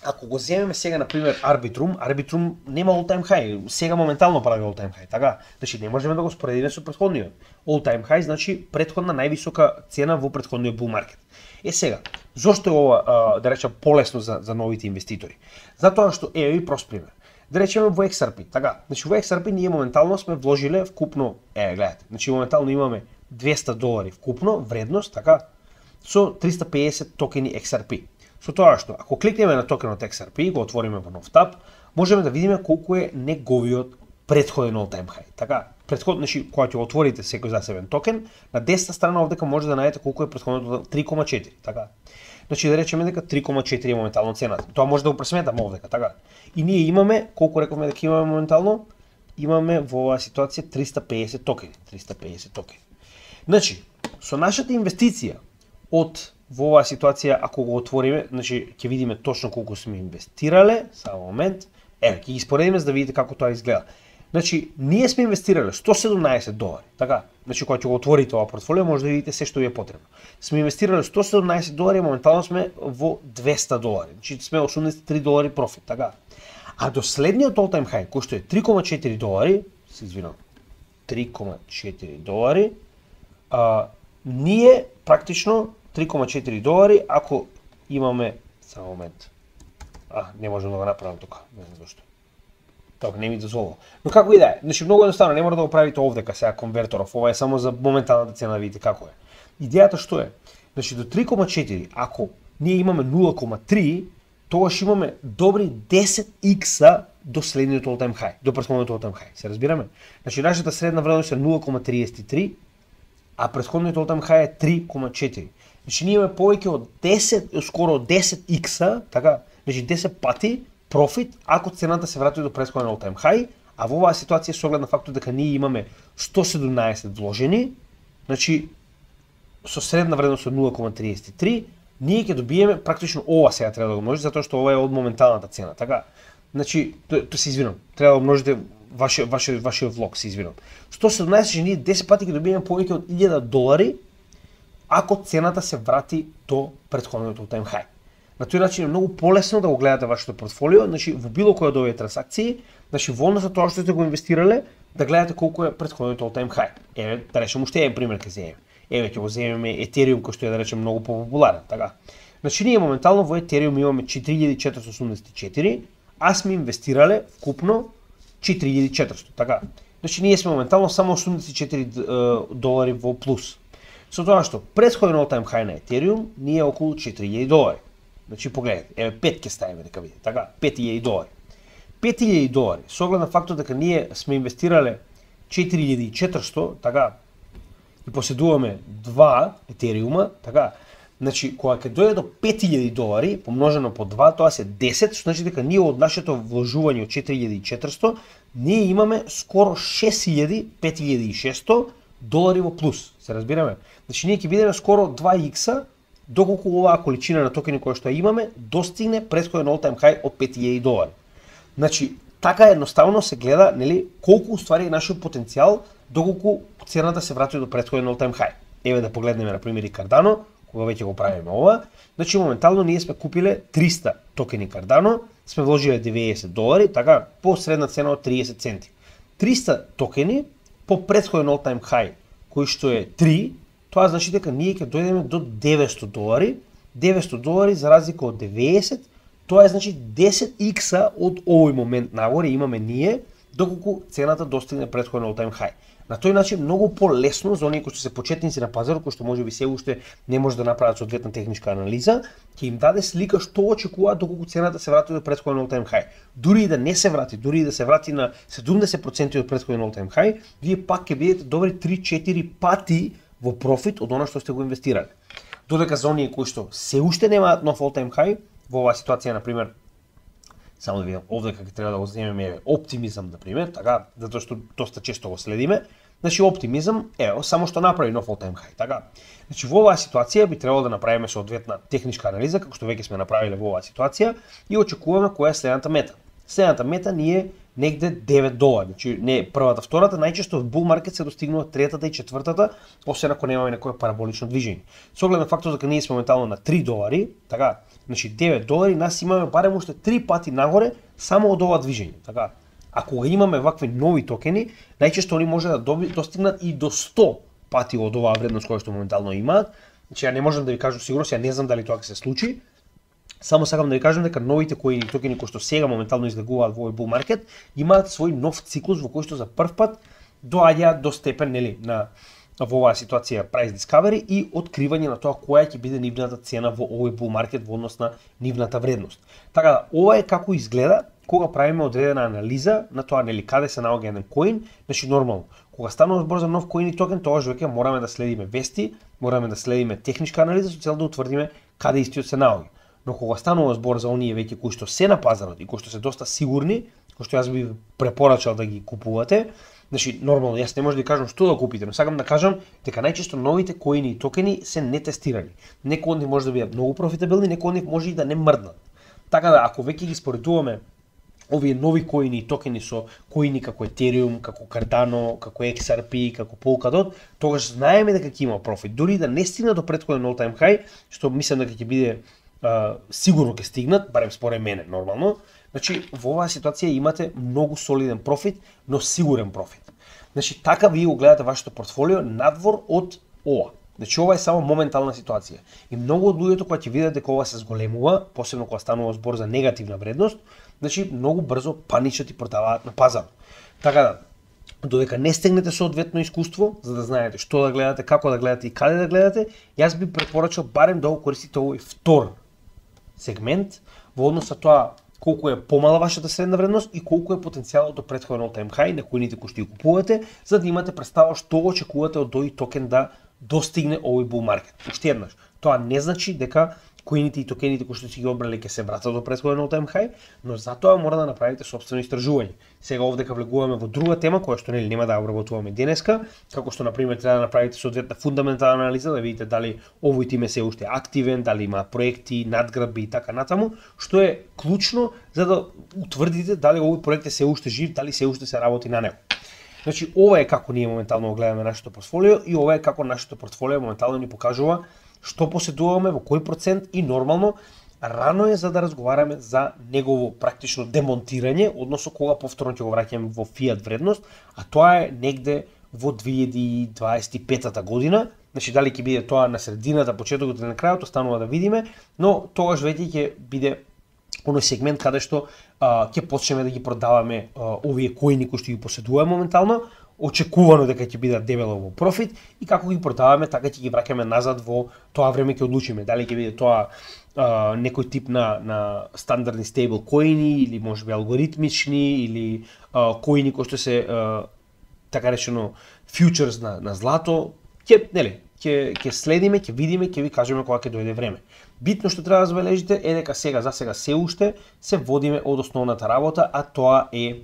ако го земеме сега на пример Arbitrum, Arbitrum нема all-time high, сега моментално прави all-time high, така? Значи не можеме да го споредиме со претходниот. All-time high значи претходна највисока цена во претходниот bull market. Е сега, зошто е ова, а, да речем, полесно за, за новите инвеститори? Затоа што е и прост пример. Да речеме во Икс Ар Пи, така. Значи во Икс Ар Пи ние моментално сме вложиле вкупно, е, гледате, значи моментално имаме двесте долари вкупно вредност, така. со триста педесет токени Икс Ар Пи. Со тоа што, ако кликнеме на токенот Икс Ар Пи и го отвориме во нов таб, можеме да видиме колку е неговиот претходен all-time high. Така, претходно, значи, кога ќе отворите секој засебен токен, на десната страна овдека може да најдете колку е претходното три кома четири, така. Значи да речеме дека три кома четири е моментално цената. Тоа може да го пресметаме овдека, така. И ние имаме, колку рековме дека имаме моментално, имаме во оваа ситуација триста педесет токени, триста педесет токени. Значи, со нашата инвестиција од во оваа ситуација, ако го отвориме, значи ќе видиме точно колку сме инвестирале, само момент. Еве, ќе ги споредиме за да видите како тоа изгледа. Значи, ние сме инвестирале сто седумнаесет долари, така? Значи, кога ќе го отворите ова портфолио, може да видите се што ви е потребно. Сме инвестирале сто седумнаесет долари, моментално сме во двеста долари. Значи, сме осумдесет и три долари профит, така? А до следниот all-time high, кој што е три кома четири долари, се извинам, три кома четири долари, а, ние практично три кома четири долари, ако имаме, само момент, а, не можам да го направам тука, не знам зашто. Тоа не ми дозволува. Но како и да е, значи многу едноставно, не мора да го правите овдека сега конверторов, ова е само за моменталната цена да видите како е. Идејата што е? Значи до три кома четири, ако ние имаме нула кома три, тогаш имаме добри десет икса до следниот all-time high, до претходниот all-time high. Се разбираме? Значи нашата средна вредност е нула кома триесет и три, а претходниот all-time high е три кома четири. Значи ние имаме повеќе од десет, скоро десет икса, така, значи десет пати профит ако цената се врати до претходен all-time high, а во оваа ситуација со оглед на фактот дека ние имаме сто седумнаесет вложени, значи со средна вредност од нула кома триесет и три, ние ќе добиеме практично ова сега треба да го множите затоа што ова е од моменталната цена, така. Значи, тоа то се извинам, треба да множите ваше ваше вашиот влог, се извинам. сто седумнаесет че ние десет пати ќе добиеме повеќе од илјада долари ако цената се врати до претходниот all-time high. На тој начин е многу полесно да го гледате вашето портфолио, значи во било која од овие трансакции, значи во однос на тоа што сте го инвестирале, да гледате колку е претходниот all-time high. Еве, да речеме уште еден пример ќе земеме. Еве ќе го земеме Ethereum кој што е да речеме многу популарен, така. Значи ние моментално во Ethereum имаме четири илјади четиристотини осумдесет и четири, а сме инвестирале вкупно четири илјади и четиристотини, така. Значи ние сме моментално само осумдесет и четири долари во плюс. Со тоа што претходен all-time high на Ethereum ние е околу четири илјади долари. Значи погледнете, еве пет ќе ставиме дека видите, така, пет илјади долари. пет илјади долари, со оглед на фактот дека ние сме инвестирале четири илјади и четиристотини, така, и поседуваме два Етериума, така, значи кога ќе дојде до пет илјади долари, помножено по два, тоа се десет, што значи дека ние од нашето вложување од четири илјади и четиристотини, ние имаме скоро шест илјади, пет илјади и шестоста долари во плюс, се разбираме? Значи ние ќе бидеме скоро два икса доколку оваа количина на токени која што имаме достигне претходен all-time high од пет илјади долари. Значи, така едноставно се гледа, нели, колку уствари е нашиот потенцијал доколку цената се врати до претходен all-time high. Еве да погледнеме на пример и Cardano, кога веќе го правиме ова. Значи моментално ние сме купиле триста токени Cardano, сме вложиле деветдесет долари, така по средна цена од триесет центи. триста токени по претходен all-time high кој што е три, тоа значи дека ние ќе дојдеме до деветсто долари, деветсто долари за разлика од деветдесет, тоа е значи десет икса од овој момент нагоре имаме ние, доколку цената достигне претходен all-time high. На тој начин многу полесно за оние кои што се почетници на пазарот, кои што можеби се уште не може да направат соодветна техничка анализа, ќе им даде слика што очекуваат доколку цената се врати до претходен all-time high. Дури и да не се врати, дури и да се врати на седумдесет проценти од претходен all-time high, вие пак ќе бидете добри три-четири пати во профит од она што сте го инвестирале. Додека за оние кои што се уште немаат нов all-time high, во оваа ситуација, например, само да видам, овдека ќе треба да го земеме Optimism, например, така, затоа што доста често го следиме. Значи Optimism, ево, само што направи нов all-time high, така. Значи во оваа ситуација би требало да направиме соодветна техничка анализа, како што веќе сме направиле во оваа ситуација, и очекуваме која е следната мета. Следната мета ни е негде девет долари, значи не првата, втората, најчесто во bull market се достигнува третата и четвртата, освен ако немаме некое параболично движење. Со оглед на фактот дека ние сме моментално на три долари, така, значи девет долари, нас имаме барем уште три пати нагоре само од ова движење, така. Ако имаме вакви нови токени, најчесто они може да достигнат и до сто пати од оваа вредност која што моментално имаат. Значи ја не можам да ви кажам сигурно, ја не знам дали тоа ќе се случи. Само сакам да ви кажам дека новите кои токени кои што сега моментално излегуваат во овој bull market имаат свој нов циклус во кој што за прв пат доаѓаат до степен, нели, на во оваа ситуација price discovery и откривање на тоа која ќе биде нивната цена во овој bull market во однос на нивната вредност. Така да, ова е како изгледа кога правиме одредена анализа на тоа нели каде се наоѓа еден коин. Значи нормално, кога станува збор за нов коин и токен, тогаш веќе мораме да следиме вести, мораме да следиме техничка анализа со цел да утврдиме каде истиот се наоѓа. Но кога станува збор за оние веќе кои што се на пазарот и кои што се доста сигурни, кои што јас би препорачал да ги купувате, значи нормално јас не можам да ви кажам што да купите, но сакам да кажам дека најчесто новите коини и токени се нетестирани. Некои од нив може да бидат многу профитабилни, некои од нив може и да не мрднат. Така да ако веќе ги споредуваме овие нови коини и токени со коини како Ethereum, како Cardano, како X R P, како Polkadot, тогаш знаеме дека ќе има профит. Дури да не стигна до претходен all time high, што мислам дека ќе биде а, сигурно ќе стигнат, барем според мене нормално. Значи во оваа ситуација имате многу солиден профит, но сигурен профит. Значи така вие го гледате вашето портфолио надвор од ова. Значи ова е само моментална ситуација. И многу од луѓето кога ќе видат дека ова се зголемува, посебно кога станува збор за негативна вредност, значи многу брзо паничат и продаваат на пазарот. Така да, додека не стегнете соодветно искуство, за да знаете што да гледате, како да гледате и каде да гледате, јас би препорачал барем да го користите овој втор сегмент во однос на тоа колку е помала вашата средна вредност и колку е потенцијалот до претходен all time high на коините кои што ги купувате, за да имате представа што очекувате од тој токен да достигне овој bull market. Уште еднаш, тоа не значи дека коините и токените кои што си ги обрали ќе се вратат до претходен all time high, но затоа мора да направите собствено истражување. Сега овдека влегуваме во друга тема која што нели нема да ја обработуваме денеска, како што на пример треба да направите соодветна фундаментална анализа да видите дали овој тим е се уште активен, дали има проекти, надградби и така натаму, што е клучно за да утврдите дали овој проект е се уште жив, дали се уште се работи на него. Значи ова е како ние моментално го гледаме нашето портфолио и ова е како нашето портфолио моментално ни покажува што поседуваме, во кој процент и нормално рано е за да разговараме за негово практично демонтирање, односно кога повторно ќе го враќаме во фиат вредност, а тоа е негде во две илјади дваесет и пета година. Значи дали ќе биде тоа на средината, почетокот или на крајот, останува да видиме, но тогаш веќе ќе биде оној сегмент каде што а, ќе почнеме да ги продаваме а, овие коини кои што ги поседуваме моментално, очекувано дека ќе бидат дебело во профит и како ги продаваме, така ќе ги враќаме назад во тоа време ќе одлучиме дали ќе биде тоа а, некој тип на на стандардни стейбл коини или можеби алгоритмични или а, коини кои што се а, така речено фьючерс на на злато, ќе нели ќе ќе следиме, ќе видиме, ќе ви кажеме кога ќе дојде време. Битно што треба да забележите е дека сега за сега се уште се водиме од основната работа, а тоа е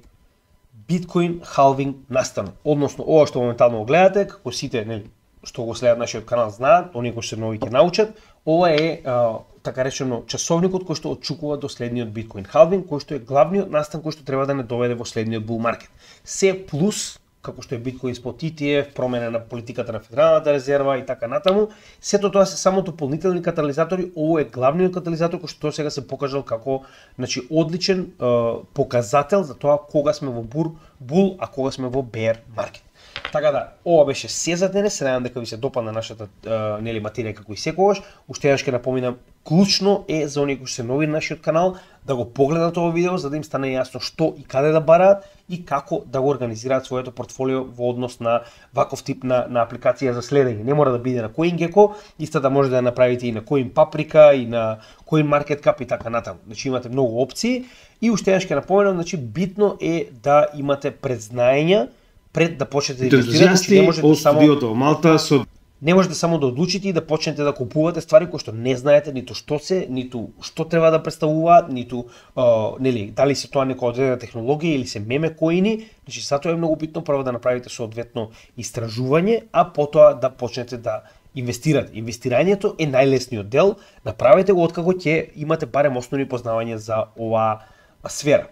Bitcoin halving настанок. Односно, ова што моментално го гледате, како сите нели што го следат нашиот канал знаат, оние кои се нови ќе научат, ова е а, така речено часовникот кој што отчукува до следниот Bitcoin halving, кој што е главниот настан кој што треба да не доведе во следниот bull market. Се плюс како што е Bitcoin спот И Ти Еф, промена на политиката на Федералната резерва и така натаму, сето тоа се само дополнителни катализатори, ово е главниот катализатор кој што сега се покажал како значи одличен е, показател за тоа кога сме во бур, бул, а кога сме во bear market. Така да, ова беше се за денес, се надам дека ви се допадна нашата е, нели материја како и секогаш. Уште еднаш ќе напоминам, клучно е за оние кои се нови на нашиот канал да го погледнат ова видео за да им стане јасно што и каде да бараат и како да го организираат своето портфолио во однос на ваков тип на, на апликација за следење. Не мора да биде на CoinGecko, исто да можете да направите и на CoinPaprika и на CoinMarketCap и така натаму. Значи имате многу опции и уште еднаш ќе напоменам, значи битно е да имате предзнаења пред да почнете да инвестирате, не можете само Малта со не можете само да одлучите и да почнете да купувате ствари кои што не знаете ниту што се, ниту што треба да представуваат, ниту а, нели дали се тоа некоја одредена технологија или се меме коини. Значи затоа е многу битно прво да направите соодветно истражување, а потоа да почнете да инвестирате. Инвестирањето е најлесниот дел, направете го откако ќе имате барем основни познавања за оваа сфера.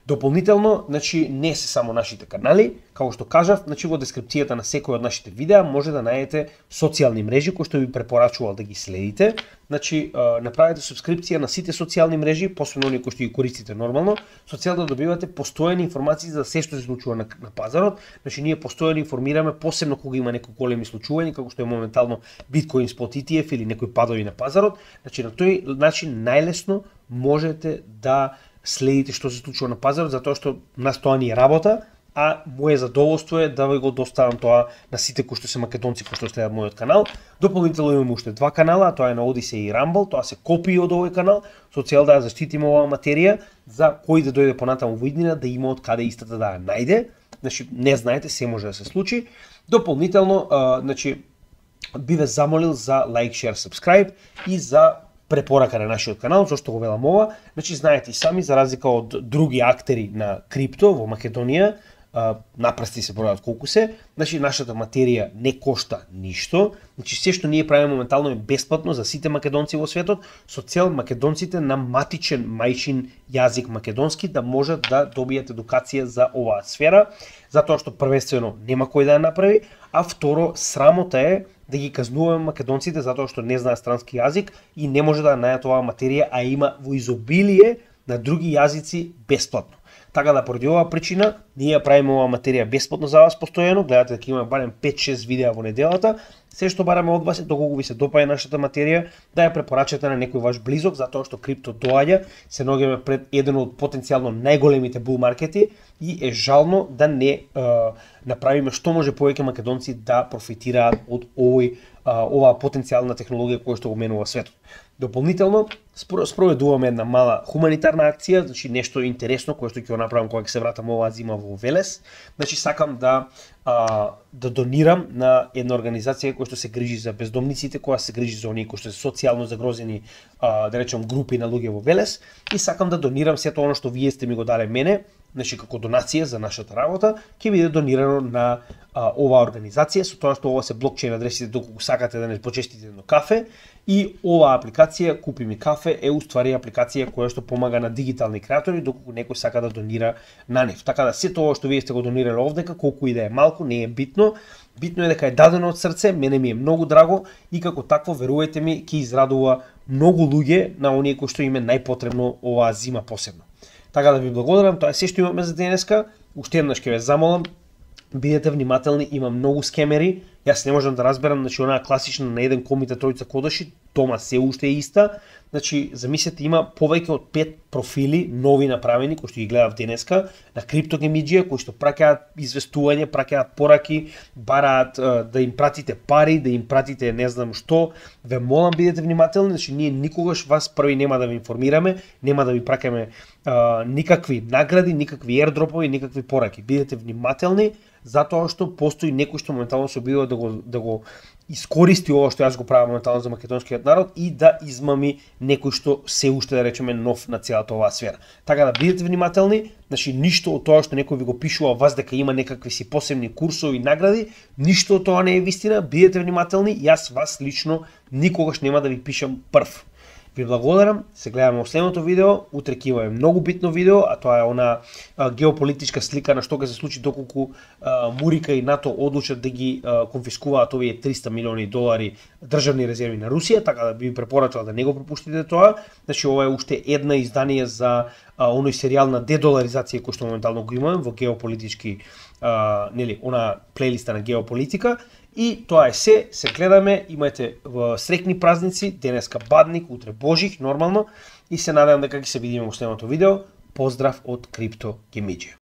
Дополнително, значи не се само нашите канали, како што кажав, значи во дескрипцијата на секој од нашите видеа може да најдете социјални мрежи кои што ви препорачувал да ги следите. Значи направете субскрипција на сите социјални мрежи, посебно оние кои што ги користите нормално, со цел да добивате постојани информации за се што се случува на, на пазарот. Значи ние постојано информираме, посебно кога има некои големи случувања, како што е моментално Bitcoin спот И Ти Еф или некои падови на пазарот. Значи на тој начин најлесно можете да следите што се случува на пазарот, затоа што нас тоа ни е работа а моje задоволство е да ви го доставам тоа на сите кои што се македонци кои што следат мојот канал. Дополнително имам уште два канала, тоа е на Odyssey и Rumble, тоа се копии од овој канал, со цел да ја заштитиме оваа материја, за кој да дојде понатаму во иднина да има од каде истата да ја најде. Значи, не знаете, се може да се случи. Дополнително, а, значи, би ве замолил за лайк, шер, subscribe и за препорака на нашиот канал, зашто го велам ова. Значи, знаете и сами, за разлика од други актери на крипто во Македонија, напрсти се бројат колку се, значи нашата материја не кошта ништо, значи се што ние правиме моментално е бесплатно за сите македонци во светот, со цел македонците на матичен мајчин јазик македонски да можат да добијат едукација за оваа сфера, затоа што првенствено нема кој да ја направи, а второ срамота е да ги казнуваме македонците затоа што не знаат странски јазик и не може да најдат оваа материја, а има во изобилие на други јазици бесплатно. Така да поради оваа причина ние ја правиме оваа материја бесплатно за вас постојано, гледате дека има барем пет-шест видеа во неделата. Се што бараме од вас е доколку ви се допаѓа нашата материја, да ја препорачате на некој ваш близок, затоа што крипто доаѓа, се наоѓаме пред еден од потенцијално најголемите бул маркети и е жално да не е, направиме што може повеќе македонци да профитираат од овој оваа потенцијална технологија која што го менува светот. Дополнително спроведуваме една мала хуманитарна акција, значи нешто интересно кое што ќе го направам кога ќе се вратам оваа зима во Велес. Значи сакам да а, да донирам на една организација која што се грижи за бездомниците, која се грижи за оние кои што се социјално загрозени, а, да речем групи на луѓе во Велес, и сакам да донирам сето оно што вие сте ми го дале мене, значи како донација за нашата работа, ќе биде донирано на а, оваа организација, со тоа што ова се блокчейн адресите доколку сакате да не почестите едно кафе, и оваа апликација Купи ми кафе е уствари апликација која што помага на дигитални креатори доколку некој сака да донира на нив. Така да сето ова што вие сте го донирале овдека, колку и да е малку, не е битно. Битно е дека е дадено од срце, мене ми е многу драго и како такво, верувајте ми, ќе израдува многу луѓе на оние кои што им е најпотребно оваа зима посебно. Така да ви благодарам, тоа е се што имаме за денеска. Уште еднаш ќе ве замолам, бидете внимателни, има многу скемери. Јас не можам да разберам, значи онаа класична на еден комите тројца кодаши, тома се уште е иста. Значи, замислете, има повеќе од пет профили нови направени кои што ги гледав денеска на криптогемиџија, кои што праќаат известување, праќаат пораки, бараат е, да им пратите пари, да им пратите не знам што. Ве молам, бидете внимателни, значи ние никогаш вас први нема да ви информираме, нема да ви праќаме никакви награди, никакви ердропови, никакви пораки. Бидете внимателни, затоа што постои некој што моментално се обидува да го да го искористи ова што јас го правам моментално за македонскиот народ и да измами некој што се уште да речеме нов на целата оваа сфера. Така да бидете внимателни, значи ништо од тоа што некој ви го пишува вас дека има некакви си посебни курсови и награди, ништо од тоа не е вистина, бидете внимателни, јас вас лично никогаш нема да ви пишам прв. Ви благодарам, се гледаме во следното видео, утре ќе имаме многу битно видео, а тоа е она а, геополитичка слика на што ќе се случи доколку а, Мурика и НАТО одлучат да ги а, конфискуваат овие триста милиони долари државни резерви на Русија, така да би препорачал да не го пропуштите тоа. Значи ова е уште една издание за а, оној серијал на дедоларизација кој што моментално го имаме во геополитички а, нели, она плейлиста на геополитика. И тоа е се, се гледаме, имајте среќни празници, денеска Бадник, утре Божих, нормално, и се надевам дека ќе се видиме во следното видео. Поздрав од Крипто Гемиџија.